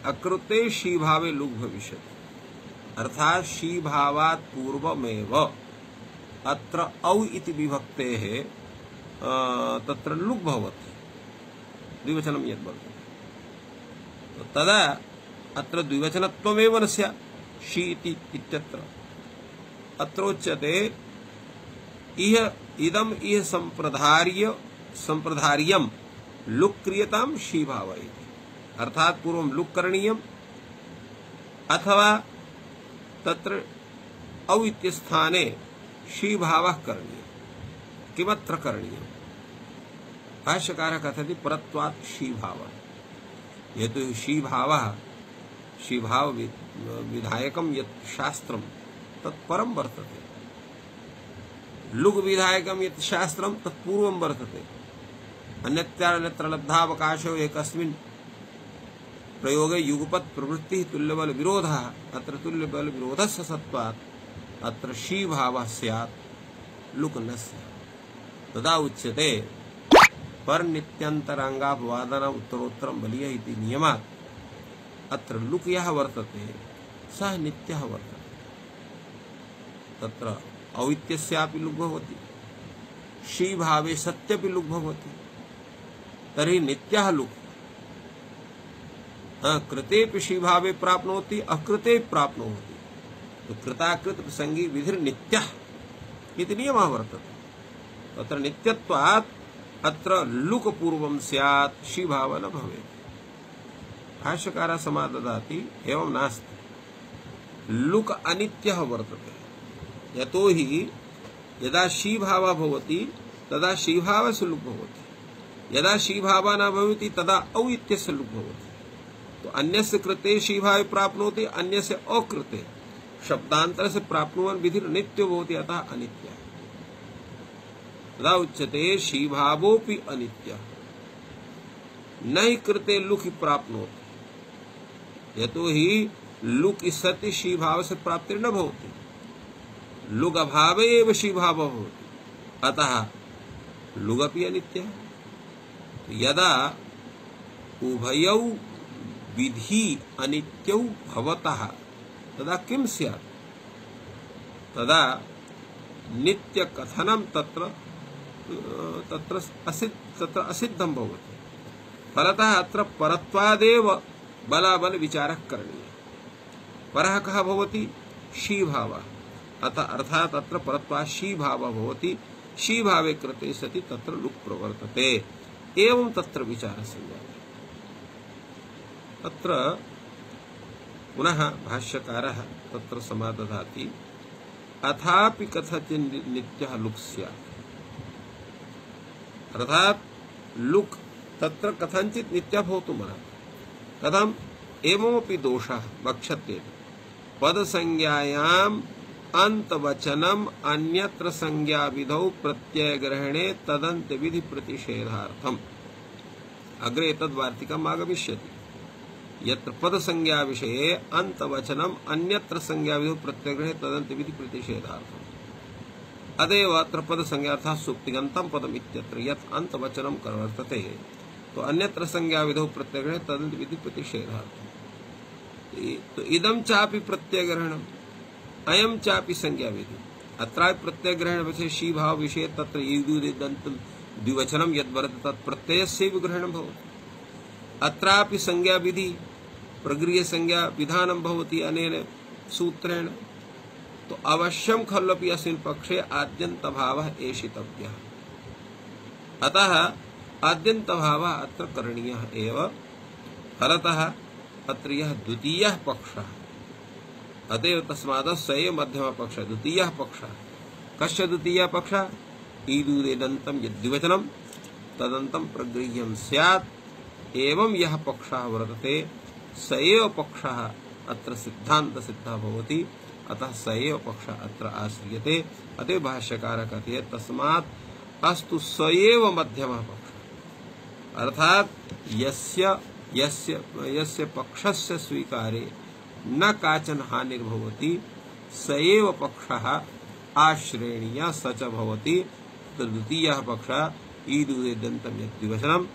अकृते शीभावे लुग् भविष्यति। अर्थात् शीभावात् पूर्वमेव अत्र औ इति विभक्तेः तत्र लुग् भवति, द्विवचनं यद् वर्तते। तो तदा अत्र द्विवचनत्वमेव न स्यात् शी इत्यत्र। अत्रोच्यते इदम् इह सम्प्रधार्यं लुक् क्रियतां शीभाव इति। अर्थात् पूर्वं लुक् करणीयम् अथवा तत्र औ इत्यस्थाने शीभावः करणीयः। किमत्र करणीयम्? भाष्यकारः कथयति परत्वात् शीभावः। यतो शीभाव विधायकं यत् शास्त्रं तत्परं वर्तते, लुग् विधायकं यत् शास्त्रं तत्पूर्वं वर्तते। अन्यत्र लब्धावकाशो एकस्मिन् प्रयोगे युगपत् प्रवृत्ति तुल्यबल विरोधः अत्र तुल्यबल विरोधस्य सत्वात् अत्र शी भावः स्यात् लुक न स्यात् तदा उच्यते पर नित्यन्तरांगापवादन उत्तरोत्तरं बलीयः इति नियमात् अत्र लुक यः वर्तते सः नित्यः वर्तते तत्र अवित्यस्यापि लुक भवति शी भावे सत्यपि लुक भवति तर्हि नित्यः लुक कृतेपि शी भावे प्राप्नोति अकृते प्राप्नोति तो कृताकृत प्रसंगी विधिर्नित्यः इति नियमः वर्तते तत्र नित्यत्वात् अत्र लुक पूर्वं स्यात् शी भाव न भवेत् भाष्यकारः समाददाति एवं नास्ति लुक अनित्यः वर्तते यतोहि यदा शी भावः भवति तदा शी भावस्य लुक भवति यदा शी भावः न भवति तदा अवित्यस्य लुक भवति तो अन्यस्य कृते शी भावे प्राप्नोति अन्यस्य अकृते शब्दांतर से प्राप्नुवन् विधिर नित्यो भवति अतः अनित्यः तदा उच्यते शी भावोऽपि अनित्यः न हि कृते लुक प्राप्नोति यतोहि लुक सति शी भाव से प्राप्तिर्न भवति लुक अभावे एव शी भावः भवति अतः लुगपि अनित्यः यदा उभयौ विधि अनित्यौ भवतः तदा किं स्यात् तदा नित्य कथनं तत्र असिद्धं भवति फलतः अत्र परत्वादेव बलाबल विचारः करणीयः परः कः भवति शी भावः अर्थात् अत्र परत्वात् शी भावः भवति शी भावे कृते सति तत्र लुक् प्रवर्तते एवं तत्र विचारः संजायते अत्र पुनः भाष्यकारः तत्र समादधाति अथापि कथचित् नित्यः लुक् स्यात् अर्थात् लुक् तत्र कथञ्चित् नित्यः भवितुमर्हति कथम् एवमपि दोषः वक्ष्यते पदसंज्ञायाम् अंतवचनम् अन्यत्र संज्ञाविधौ प्रत्ययग्रहणे तदन्त्यविधि प्रतिषेधार्थम् अग्रे तद्वार्तिकम् आगमिष्यति यत्र पदसंज्ञा विषये अंतवचनम् अन्यत्र संज्ञाविधौ प्रत्ययग्रहणे तदन्त्यविधि प्रतिषेधार्थम् अतएव अत्र पदसंज्ञा अर्थात् सुप्तिगन्तं पदम् इत्यत्र यत् अंतवचनं वर्तते तो अन्यत्र संज्ञाविधौ प्रत्ययग्रहणे तदन्त्यविधि प्रतिषेधार्थम् तो इदं चापि प्रत्ययग्रहणम् अयं चापि संज्ञाविधि अत्र प्रत्ययग्रहण विषये शी भाव विषये तत्र ईदुदन्तं द्विवचनं यद् वर्तते तत् प्रत्ययस्यैव ग्रहणं भवति अत्रापि संज्ञाविधि प्रगृह्य संज्ञा विधानं भवति अनेन सूत्रेण तो अवश्यं खल्वपि अस्मिन् पक्षे आद्यन्तभावः एषितव्यः अतः आद्यन्तभावः अत्र करणीयः एव फलतः अत्र यः द्वितीयः पक्षः अतएव तस्मात् स एव मध्यमः पक्षः द्वितीयः पक्षः कस्य द्वितीयः पक्षः ईदुदेदन्तं यद्विवचनं तदन्तं प्रगृह्यं स्यात् एवं यः पक्षः वर्तते स एव पक्षः अत्र सिद्धान्तसिद्धः भवति अतः स एव पक्षः अत्र आश्रियते अतएव भाष्यकारः कहते तस्मात् अस्तु स एव मध्यमः पक्षः अर्थात् यस्य पक्षस्य स्वीकारे न काचन हानिर्भवति स एव पक्षः आश्रेणीयः स च भवति द्वितीयः पक्षः ईदुदेदन्तं यद्विवचनं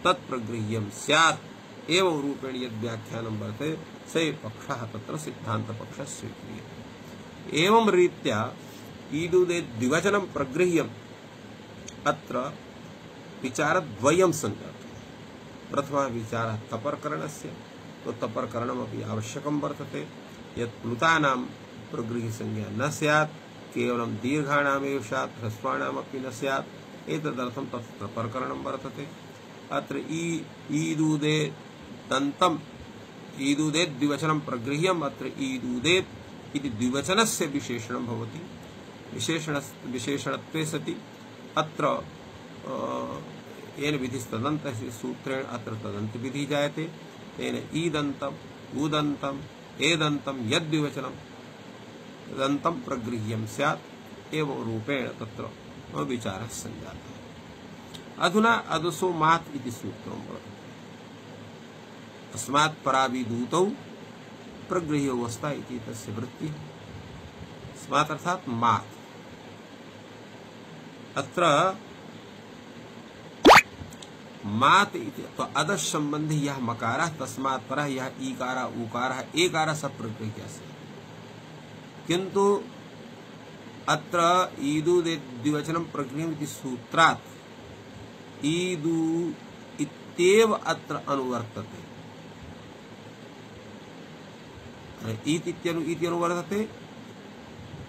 तत्प्रगृह्यं स्यात् एवं रूपेण यद् व्याख्यानं वर्तते स एव पक्षः तत्र सिद्धान्तपक्षः स्वीक्रियते एवं रीत्या ईदुदेद्विवचनं प्रगृह्यम् अत्र विचारद्वयं सञ्जातः प्रथमः विचारः तपर्करणस्य तो तपर्करणमपि आवश्यकं वर्तते यत् प्लुतानां प्रगृह्यसंज्ञा न स्यात् केवलं दीर्घाणामेव स्यात् ह्रस्वाणामपि न स्यात् एतदर्थं तत् तपर्करणं वर्तते अत्र ईदुदेदन्तम् ईदुदेद्विवचनं प्रगृह्यम् अत्र ईदुदेत् इति द्विवचनस्य विशेषणं भवति विशेषणत्वे सति अत्र येन विधिस्तदन्तस्य सूत्रेण अत्र तदन्तविधिः जायते तेन ईदन्तम् उदन्तम् एदन्तं यद्विवचनं तदन्तं प्रगृह्यं स्यात् एवं रूपेण तत्र विचारः सञ्जातः अधुना अदसो मात् इति सूत्रं वर्तते अस्मात् पराविदूतौ प्रगृह्योऽवस्था इति तस्य वृत्ति। अस्मात् अर्थात मात्। अत्र मात इति तो अदश संबंधी यह मकारः तस्मात् परः यह ईकारः उकारः एकारः सब प्रगृह्यस्य। किंतु अत्र ईदु द्विवचनं प्रगृह्यम् इति सूत्रात् ईदु इत्येव अत्र अनुवर्तते। ईत् इति अनुवर्तते,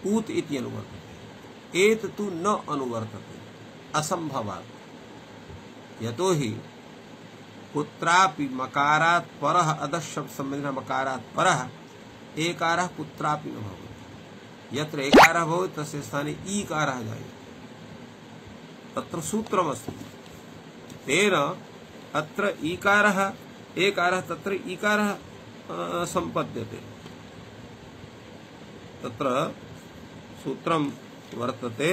ऊत् इति अनुवर्तते, एत तु न अनुवर्तते असंभवात्। यतोहि कुत्रापि मकारात् परः अदश संबंधिनः मकारात् परः एकारः कुत्रापि न भवति। यत्र एकारः भवति तस्य स्थाने ईकारः जायते। तत्र सूत्रमस्ति। तेन अत्र ईकारः एकारः तत्र ईकारः सम्पद्यते। तत्र सूत्रं वर्तते।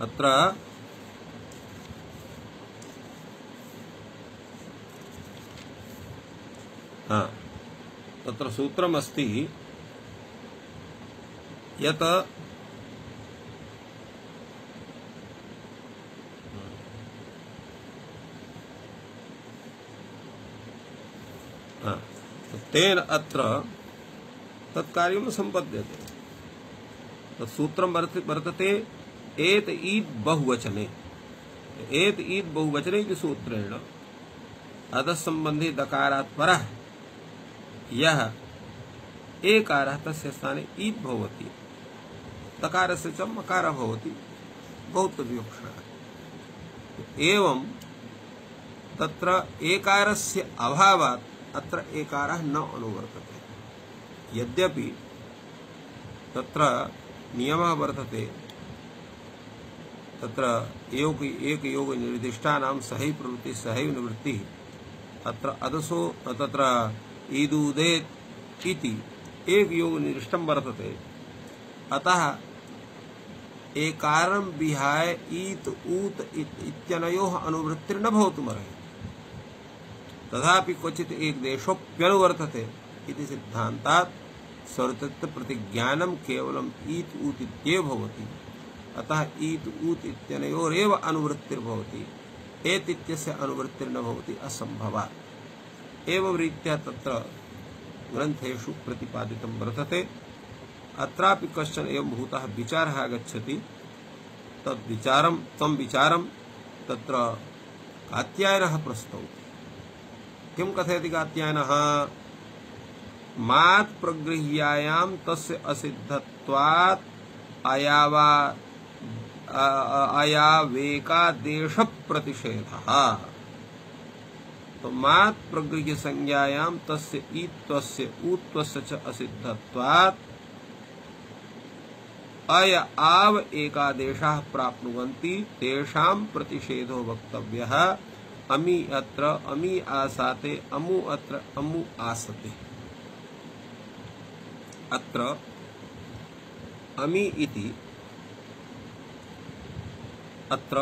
अत्र तत्र सूत्रमस्ति यत् तेन अत्र तत्कार्यं सम्पद्यते। तत्सूत्रं वर्तते एत ईद बहुवचने। एत ईद बहुवचने इति सूत्रेण अदश संबंधी दकारात् परः यः एकारः तस्य स्थाने ईद भवति। दकारस्य च मकारः भवति बहुत्वविवक्षणः। एवं तत्र एकारस्य अभावात् अत्र एकारः न अनुवर्तते। यद्यपि तत्र नियमः वर्तते, तत्र एक योग निर्दिष्टानां सहैव प्रवृत्ति सहैव निवृत्ति। अत्र अदसो तत्र ईदुदेत् इति एक योग निर्दिष्टं वर्तते। अतः एकारं विहाय ईत ऊत इत्यनयोः अनुवृत्तिर्न भवितुमर्हति। तथापि क्वचित् एक देशोऽप्यनुवर्तते इति सिद्धान्तात् सर्वत्र प्रतिज्ञानं केवलम् ईत ऊत इत्येव भवति। अतः ईत ऊत इत्यनयोरेव अनुवृत्तिर्भवति। एत इत्यस्य अनुवृत्तिर्न भवति असंभवात्। एवं रीत्या तत्र ग्रन्थेषु प्रतिपादितं वर्तते। अत्रापि कश्चन एवं भूतः विचारः आगच्छति। तं विचारं तत्र कात्यायनः प्रस्तौति। किं कथयति कात्यायनः? मात् प्रगृह्यायां तस्य असिद्धत्वात् अयावेकादेश प्रतिषेधः। तो मात् प्रगृह्य संज्ञायां तस्य ईत्वस्य ऊत्वस्य च असिद्धत्वात् अय आव एकादेशाः प्राप्नुवन्ति तेषां प्रतिषेधो वक्तव्यः। अमी अत्र अमी आसाते, अमु अत्र अमु आसते। अत्र अमी इति अत्र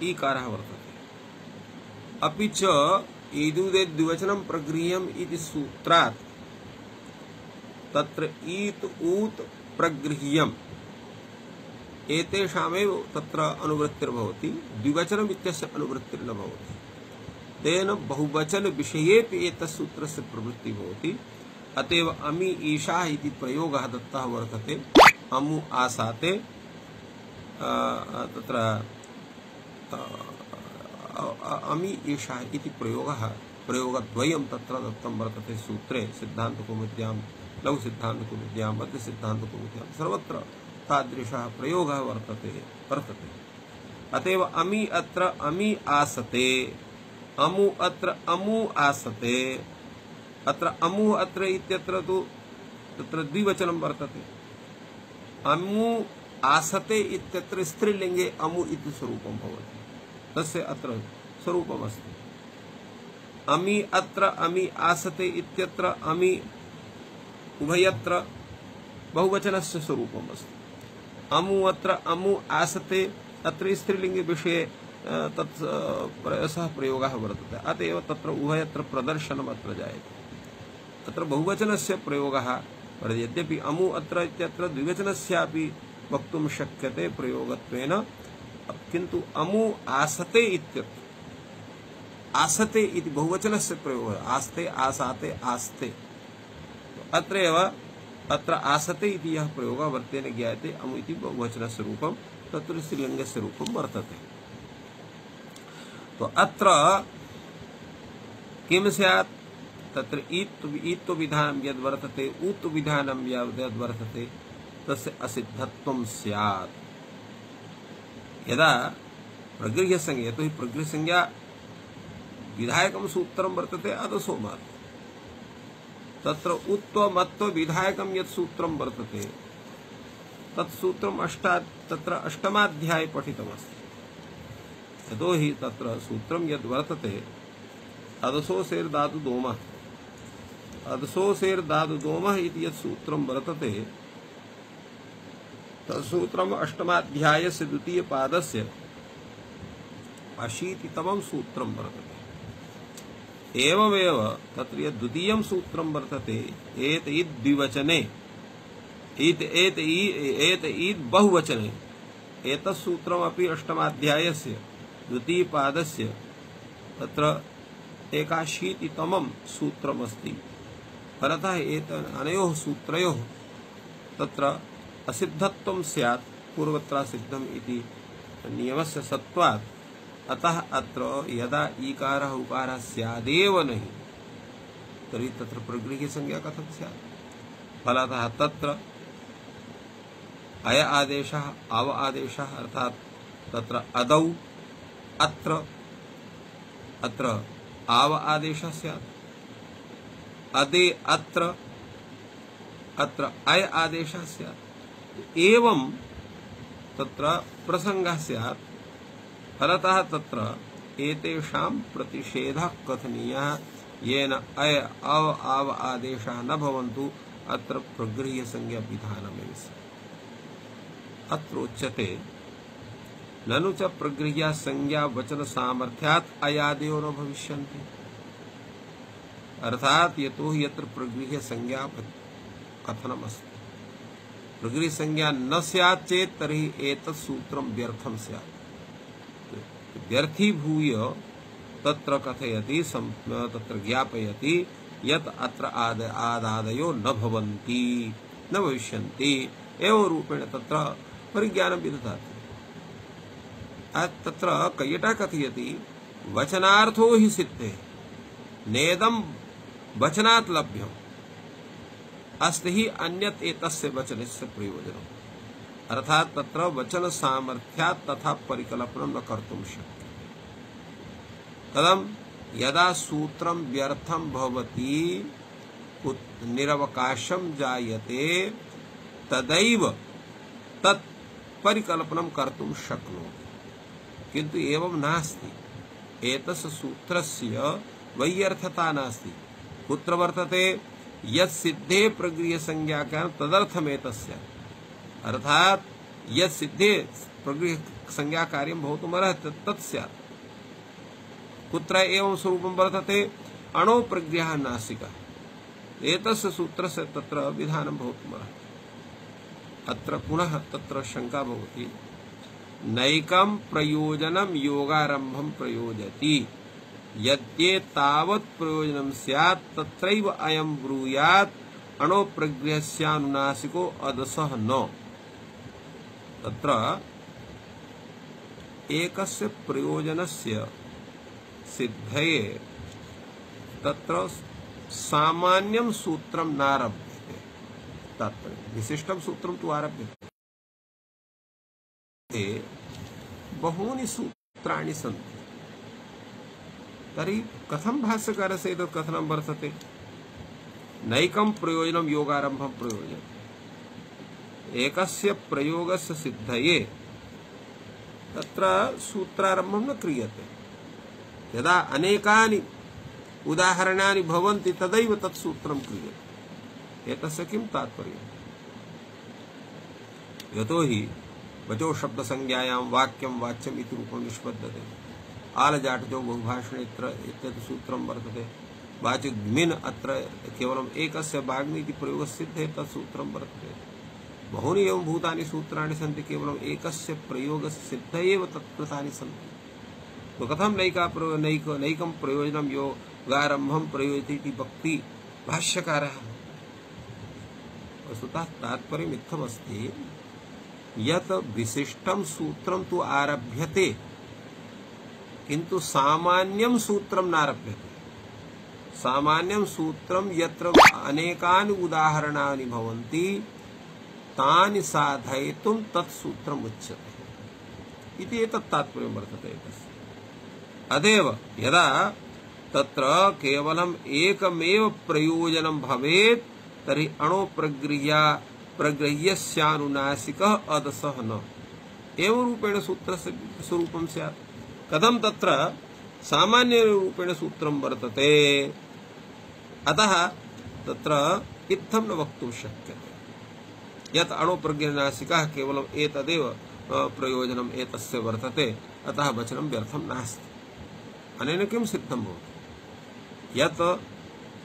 ईकारः वर्तते। अपि च ईदुदे द्विवचनं प्रगृह्यम् इति सूत्रात् तत्र ईत ऊत प्रगृह्यम् एतेषामेव तत्र अनुवृत्तिर्भवति। द्विवचनम् इत्यस्य अनुवृत्तिर्न भवति। तेन बहुवचन विषयेपि एतस्य सूत्रस्य प्रवृत्तिः भवति। अतएव अमी ईशा इति प्रयोगः दत्तः वर्तते। अमु आसाते तत्र अमी ईशा इति प्रयोगद्वयं तत्र दत्तं वर्तते सूत्रे। सिद्धान्तकौमुद्यां, लघुसिद्धान्तकौमुद्यां, मध्यसिद्धान्तकौमुद्यां सर्वत्र तादृशः प्रयोगः वर्तते। अतएव अमी अत्र अमी आसते, अमु अत्र अमु आसते। अत्र अमु अत्र इत्यत्र तु तत्र द्विवचनं वर्तते। अमु आसते इत्यत्र स्त्रीलिङ्गे अमु इति स्वरूपं भवति। तस्य अत्र स्वरूपमस्ति। अमी अत्र अमी आसते इत्यत्र अमी उभयत्र बहुवचनस्य स्वरूपम् अस्ति। अमु अत्र अमु आसते अत्र स्त्रीलिङ्गे विषये तत् सः प्रयोगः वर्तते। अत एव तत्र उभयत्र प्रदर्शनम् अत्र जायते। तत्र बहुवचनस्य प्रयोगः वर्तते। यद्यपि अमु अत्र इत्यत्र द्विवचनस्यापि वक्तुं शक्यते प्रयोगत्वेन, किन्तु अमु आसते इत्यत्र आसते इति बहुवचनस्य प्रयोगः, आस्ते आसाते आस्ते, अत्रैव अत्र आसते इति यः प्रयोगः वर्तेन ज्ञायते। अमु इति बहुवचनस्य रूपं, तत्र स्त्रीलिङ्गस्य रूपं वर्तते। तो अत्र किं स्यात्, तत्र ईत्व विधानं यद् वर्तते, ऊत्व विधानं यद् वर्तते, तस्य असिद्धत्वं स्यात्। यदा प्रगृह्यसंज्ञा, यतो हि प्रगृह्यसंज्ञा विधायकं सूत्रं वर्तते अदसो मात्, तत्र उत्व मत्व विधायकं यत् सूत्रं वर्तते तत् सूत्रम् तत्र अष्टमाध्याये पठितमस्ति। यतो हि तत्र सूत्रं यद् वर्तते अदसो सेर् धातु दोमः, अदसो सेर् धातु दोमः इति यत् सूत्रं वर्तते तत् सूत्रम् अष्टमाध्यायस्य द्वितीयपादस्य 80तमं सूत्रं वर्तते। एवमेव तत्र यद् द्वितीयं सूत्रं वर्तते एत ईद् द्विवचने, एत ईद् बहुवचने, एतत् सूत्रमपि अष्टमाध्यायस्य द्वितीयपादस्य तत्र 81तमं सूत्रमस्ति। फलतः अनयोः सूत्रयोः तत्र असिद्धत्वं स्यात्, पूर्वत्र सिद्धम् इति नियमस्य सत्त्वात्। अतः अत्र यदा ईकारः उकारः स्यादेव नहीं, तर्हि तत्र प्रगृह्यसंज्ञा कथं स्यात्। फलतः तत्र अय आदेशः अव आदेशः, अर्थात् तत्र अदौ अत्र आव आदेशः स्यात्, अदे अत्र अय आदेशः स्यात्। एवं तत्र प्रसंगः स्यात्। फलतः तत्र एतेषां प्रतिषेधः कथनीयः, येन अय अव आव आदेशः न भवन्तु, अत्र प्रगृह्यसंज्ञा विधानमेव स्यात्। अत्र उच्यते ननु च प्रगृह्यसंज्ञा वचन सामर्थ्यात् अयादयो न भविष्यन्ति। अर्थात यतो हि यत्र प्रगृह्यसंज्ञा कथनमस्ति, प्रगृह्यसंज्ञा न स्यात् चेत् तर्हि एतत् सूत्रं व्यर्थं स्यात्। व्यर्थीभूय तत्र कथयति, तत्र ज्ञापयति यत् अत्र आदादयो न भवन्ति, न भविष्यन्ति। एवं रूपेण तत्र परिज्ञानं विदधाति। तत्र कैयटः कथयति वचनार्थो हि सिद्धे नेदं वचनात् लभ्यम् अस्ति हि अन्यत् एतस्य वचनस्य प्रयोजनम्। अर्थात तत्र वचन सामर्थ्यात् तथा परिकल्पनं न कर्तुं शक्यते। कथं, यदा सूत्रं व्यर्थं भवति, निरवकाशं जायते, तदैव तत् परिकल्पनं कर्तुं शक्नोति। किन्तु एवं नास्ति। एतस्य सूत्रस्य वैयर्थता नास्ति। कुत्र वर्तते, यत् सिद्धे प्रगृह्यसंज्ञाकारं तदर्थमेतस्य, अर्थात यत् सिद्धे प्रगृह्यसंज्ञाकार्यं भवितुमर्हति तत् स्यात्। कुत्र एवं स्वरूपं वर्तते, अणो प्रगृह्यः नासिकः, एतस्य सूत्रस्य तत्र विधानं भवितुमर्हति। अत्र पुनः तत्र शंका भवति, नैकं प्रयोजनं योगारंभं प्रयोजति, यद्ये तावत् प्रयोजनं स्यात् तत्रैव अयं ब्रूयात्, अणो प्रगृह्यस्यानुनासिको अदसः न। तत्र एकस्य प्रयोजनस्य सिद्धये तत्र सामान्यं सूत्रं नारभ्यते, तात्पर्यं विशिष्टं सूत्रं तु आरभ्यते। बहूनि सूत्राणि सन्ति। तर्हि कथं भाष्यकारस्य एतत् कथनं वर्तते, नैकं प्रयोजनं योगारंभं प्रयोजनम्। एकस्य प्रयोगस्य सिद्धये तत्र सूत्रारंभं न क्रियते। यदा अनेकानि उदाहरणानि भवन्ति तदैव तत् सूत्रं क्रियते। एतस्य किं तात्पर्यम्? यतो हि वचो शब्द संज्ञायां वाक्यं वाच्यम् इति रूपं निष्पद्यते। आलजाटजो बहुभाषणे इत्येतत् सूत्रं वर्तते। वाचिग्मिन् अत्र केवलम् एकस्य वाग्मि इति प्रयोगसिद्धे तत् सूत्रं वर्तते। बहूनि एवं भूतानि सूत्राणि सन्ति, केवलम् एकस्य प्रयोगसिद्ध एव तत्कृतानि सन्ति। तो कथं नैकं प्रयोजनं योगारम्भं प्रयोजति इति वक्ति भाष्यकारः। वस्तुतः तात्पर्यम् इत्थमस्ति यत् विशिष्टं सूत्रं तु आरभ्यते, किन्तु सामान्यं सूत्रं नारभ्यते। सामान्यं सूत्रं यत्र अनेकानि उदाहरणानि भवन्ति तानि साधयितुं तत् सूत्रम् उच्यते इति एतत् तात्पर्यं वर्तते तस्य। अतएव यदा तत्र केवलम् एकमेव प्रयोजनं भवेत् तर्हि प्रगृह्यस्यानुनासिकः अदसः न एवं रूपेण सूत्रस्य स्वरूपं स्यात्। कथं तत्र सामान्य रूपेण सूत्रं वर्तते, अतः तत्र इत्थं न वक्तुं शक्यते यत् अणुप्रज्ञनासिकः केवलम् एतदेव प्रयोजनम् एतस्य वर्तते, अतः वचनं व्यर्थं नास्ति। अनेन किं सिद्धं भवति यत्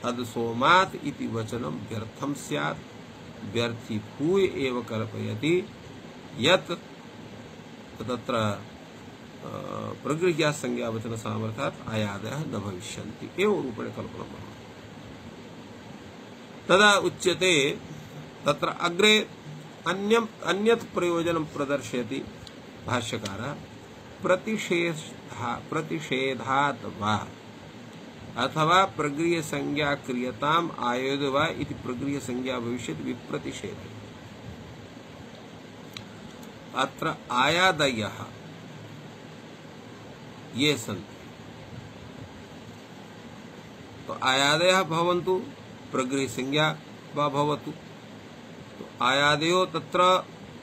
अदसोमात् इति वचनं व्यर्थं स्यात्, व्यर्थीभूय एव कल्पयति यत् तत्र प्रगृह्या संज्ञा वचन सामर्थ्यात् आयादयः न भविष्यन्ति एवं रूपेण कल्पनं भवति। तदा उच्यते तत्र अग्रे अन्यत् प्रयोजनं प्रदर्शयति भाष्यकारः। प्रतिषेधात् वा अथवा प्रगृह्य संज्ञा क्रियताम् आयोद्य वा इति प्रगृह्य संज्ञा भविष्यति विप्रतिषेधे। अत्र आयादयः ये सन्ति, तो आयादयः भवन्तु प्रगृह्य संज्ञा वा भवतु। तो आयादयो तत्र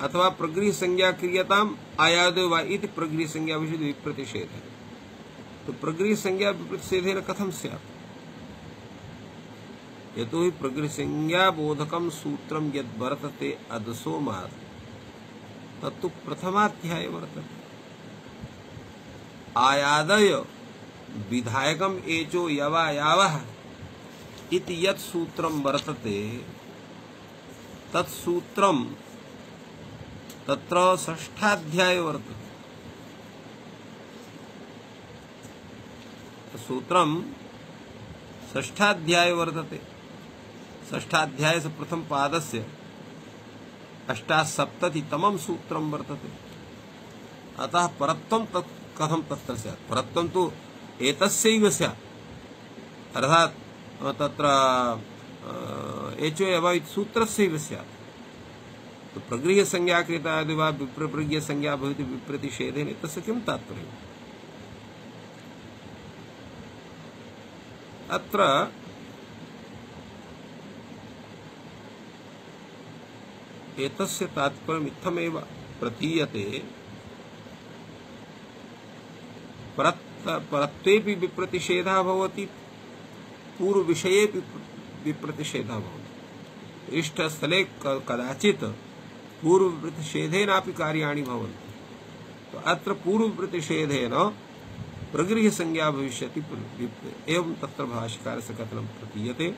अथवा प्रगृह्य संज्ञा क्रियताम् आयादयो वा इति प्रगृह्य संज्ञा भविष्यति विप्रतिषेधे। तो प्रगृह्य संज्ञा विप्रतिषेधेन कथं स्यात्? यतो हि प्रगृह्य संज्ञा बोधकं सूत्रं यद् वर्तते अदसोमात् तत्तु प्रथमाध्याये वर्तते। आयादय विधायकम् एचो यवा यावः इति यत् सूत्रं वर्तते तत् सूत्रं तत्र षष्ठाध्याये वर्तते। सूत्रं षष्ठाध्याये वर्तते। षष्ठाध्यायस्य प्रथम पादस्य 88तमं सूत्रं वर्तते। अतः परत्वं तत् कथं तत्र स्यात्? परत्वं तु एतस्यैव स्यात्, अर्थात् तत्र एचो यवा इति सूत्रस्यैव स्यात्। तो प्रगृह्य संज्ञा कृता यदि वा विप्रगृह्य संज्ञा भवति विप्रतिषेधेन तस्य किं तात्पर्यम्? अत्र एतस्य तात्पर्यम् इत्थमेव प्रतीयते। परत्वेपि विप्रतिषेधः भवति, पूर्वविषयेपि विप्रतिषेधः भवति। इष्टस्थले कदाचित् पूर्वप्रतिषेधेनापि कार्याणि भवन्ति। तो अत्र पूर्वप्रतिषेधेन प्रगृह्य संज्ञा भविष्यति एवं तत्र भाष्यकारस्य कथनं प्रतीयते।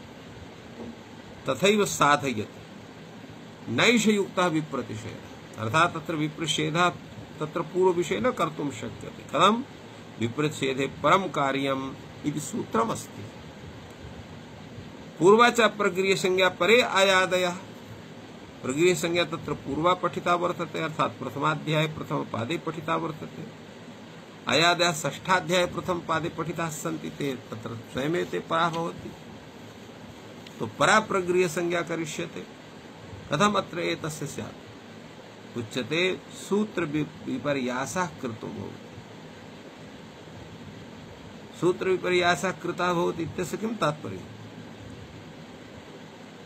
तथैव साधयति नैषयुक्तः विप्रतिषेधः, अर्थात् तत्र विप्रतिषेधः तत्र पूर्वविषये न कर्तुं शक्यते। कथं? विप्रतिषेधे परं कार्यम् इति सूत्रमस्ति। पूर्वा च प्रगृह्य संज्ञा परे आयादयः। प्रगृह्य संज्ञा तत्र पूर्वा पठिता वर्तते, अर्थात् प्रथमाध्याये प्रथमपादे पठिता वर्तते। आयादयः षष्ठाध्याये प्रथमपादे पठिताः सन्ति, ते तत्र स्वयमेव ते परा भवति। तो परा प्रगृह्य संज्ञा करिष्यते। कथम् अत्र एतस्य स्यात्? उच्यते सूत्र विपर्यासः कृतो भवति। सूत्र विपर्यासः कृतः भवति इत्यस्य किं तात्पर्यम्?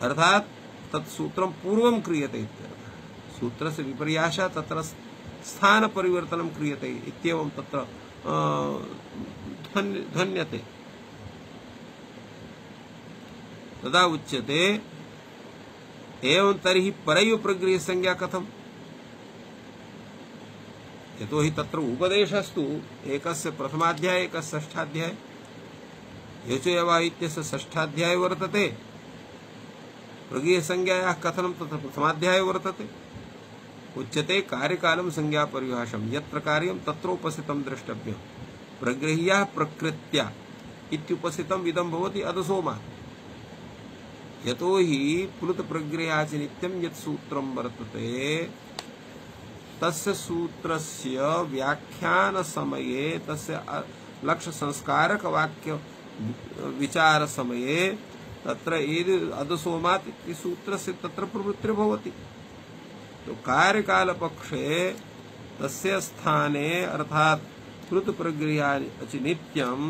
अर्थात् तत् सूत्रं पूर्वं क्रियते इत्यर्थः। सूत्रस्य विपर्यासः तत्र स्थान परिवर्तनं क्रियते इत्येवं तत्र ध्वन्यते। तदा उच्यते एवं तर्हि परैव प्रगृह्य संज्ञा कथम्? यतोहि तत्र उपदेशस्तु एकस्य प्रथमाध्याये एकस्य षष्ठाध्याये यचोयवा इत्यस्य षष्ठाध्याये वर्तते प्रगृह्यसंज्ञायाः कथनं तत्र प्रथमाध्याये वर्तते उच्यते कार्यकालं संज्ञा परिभाषं यत्र कार्यं तत्रोपस्थितं द्रष्टव्यं प्रगृह्यः प्रकृत्या इत्युपस्थितम् इदं भवति अधसोमात् यतोहि प्लुत प्रगृह्याच नित्यं यत् सूत्रं वर्तते तस्य सूत्रस्य व्याख्यान समये तस्य लक्ष्य संस्कारक वाक्य विचार समये तत्र यदि अधसोमात् इति सूत्रस्य तत्र प्रवृत्तिर्भवति तो कार्यकाल पक्षे तस्य स्थाने अर्थात प्लुत प्रगृह्याच नित्यम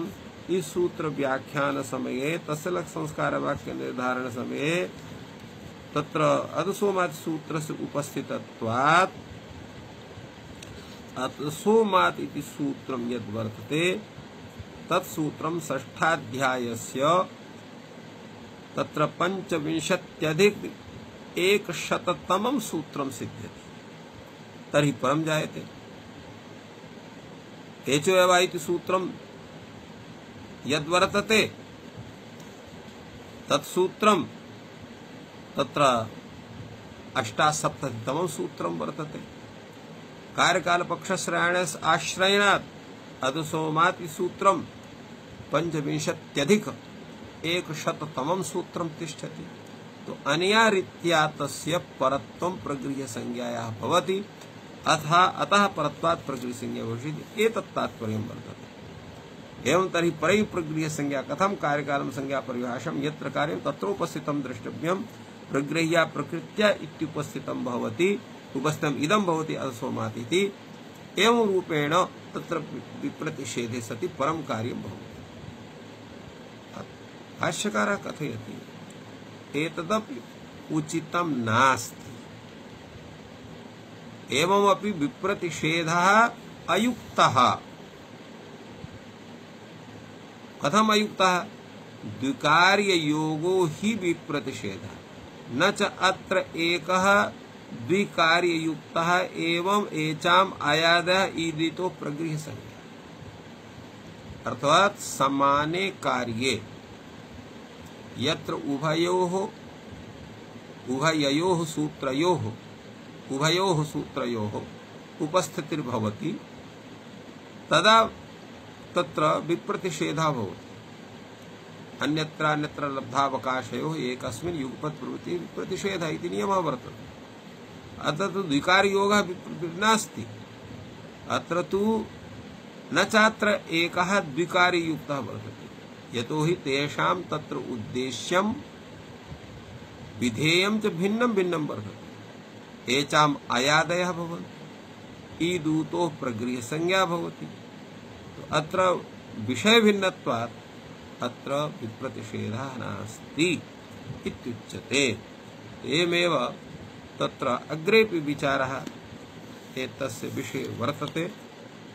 इस सूत्र व्याख्यान समये तस्य लक्ष्य संस्कार वाक्य निर्धारण समये तत्र अधसोमात् सूत्रस्य उपस्थितत्वात् अधसोमात् इति सूत्रं यद् वर्तते तत्सूत्रं षष्ठाध्यायस्य तत्र 25+100तमं सूत्रं सिद्ध्यति तर्हि परं जायते एचोयवा इति सूत्रं यद्वर्तते तत्सूत्रं तत्र 78तमं सूत्रं वर्तते कार्यकाल पक्षश्रयणस्य आश्रयणात् अधसोमात् सूत्रं 25+100तमं सूत्रं तिष्ठति तो अनया रीत्या तस्य परत्वं प्रगृह्यसंज्ञायाः भवति अतः परत्वात् प्रगृह्यसंज्ञा भविष्यति एतत् तात्पर्यं वर्तते एवं तर्हि परैः प्रगृह्यसंज्ञा कथं कार्यकालं संज्ञा परिभाषं यत्र कार्यं तत्रोपस्थितं द्रष्टव्यं प्रगृह्या प्रकृत्या इत्युपस्थितं भवति उपस्थितम् इदं भवति अधसोमात् इति एवं रूपेण तत्र विप्रतिषेधे सति परं कार्यं भवति भाष्यकारः कथयति एतदपि उचितं नास्ति एवमपि विप्रतिषेधः अयुक्तः कथम अयुक्तः द्विकार्ययोगो हि विप्रतिषेधः न च अत्र एकः द्विकार्ययुक्तः एवं एचाम् आयादः ईदितो प्रगृह्यसंज्ञा अर्थात समाने कार्ये यत्र उभयोः सूत्रयोः उपस्थितिर्भवति तदा तत्र विप्रतिषेधः भवति अन्यत्र लब्धावकाशयोः एकस्मिन् युगपत् प्रवृत्ति विप्रतिषेधः इति नियमः वर्तते अत्र तु द्विकारयोगः नास्ति अत्र तु न चात्र एकः द्विकारयुक्तः वर्तते यतोहि तेषां तत्र उद्देश्यं विधेयं च भिन्नं भिन्नं वर्तते एचाम् अयादयः भवन्ति ईदूतोः प्रगृह्यसंज्ञा भवति अत्र विषयभिन्नत्वात् अत्र विप्रतिषेधः नास्ति इत्युच्यते एवमेव तत्र अग्रेपि विचारः एतस्य विषये वर्तते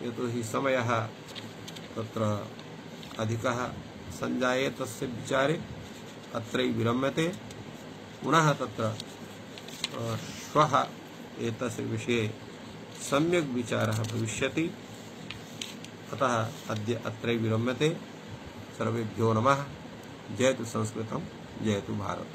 यतोहि समयः तत्र अधिकः संजाये तस्य विचारे अत्रैव विरम्यते पुनः तत्र श्वः एतस्य विषये सम्यक् विचारः भविष्यति अतः अद्य अत्रैव विरम्यते सर्वेभ्यो नमः जयतु संस्कृतं जयतु भारतम्।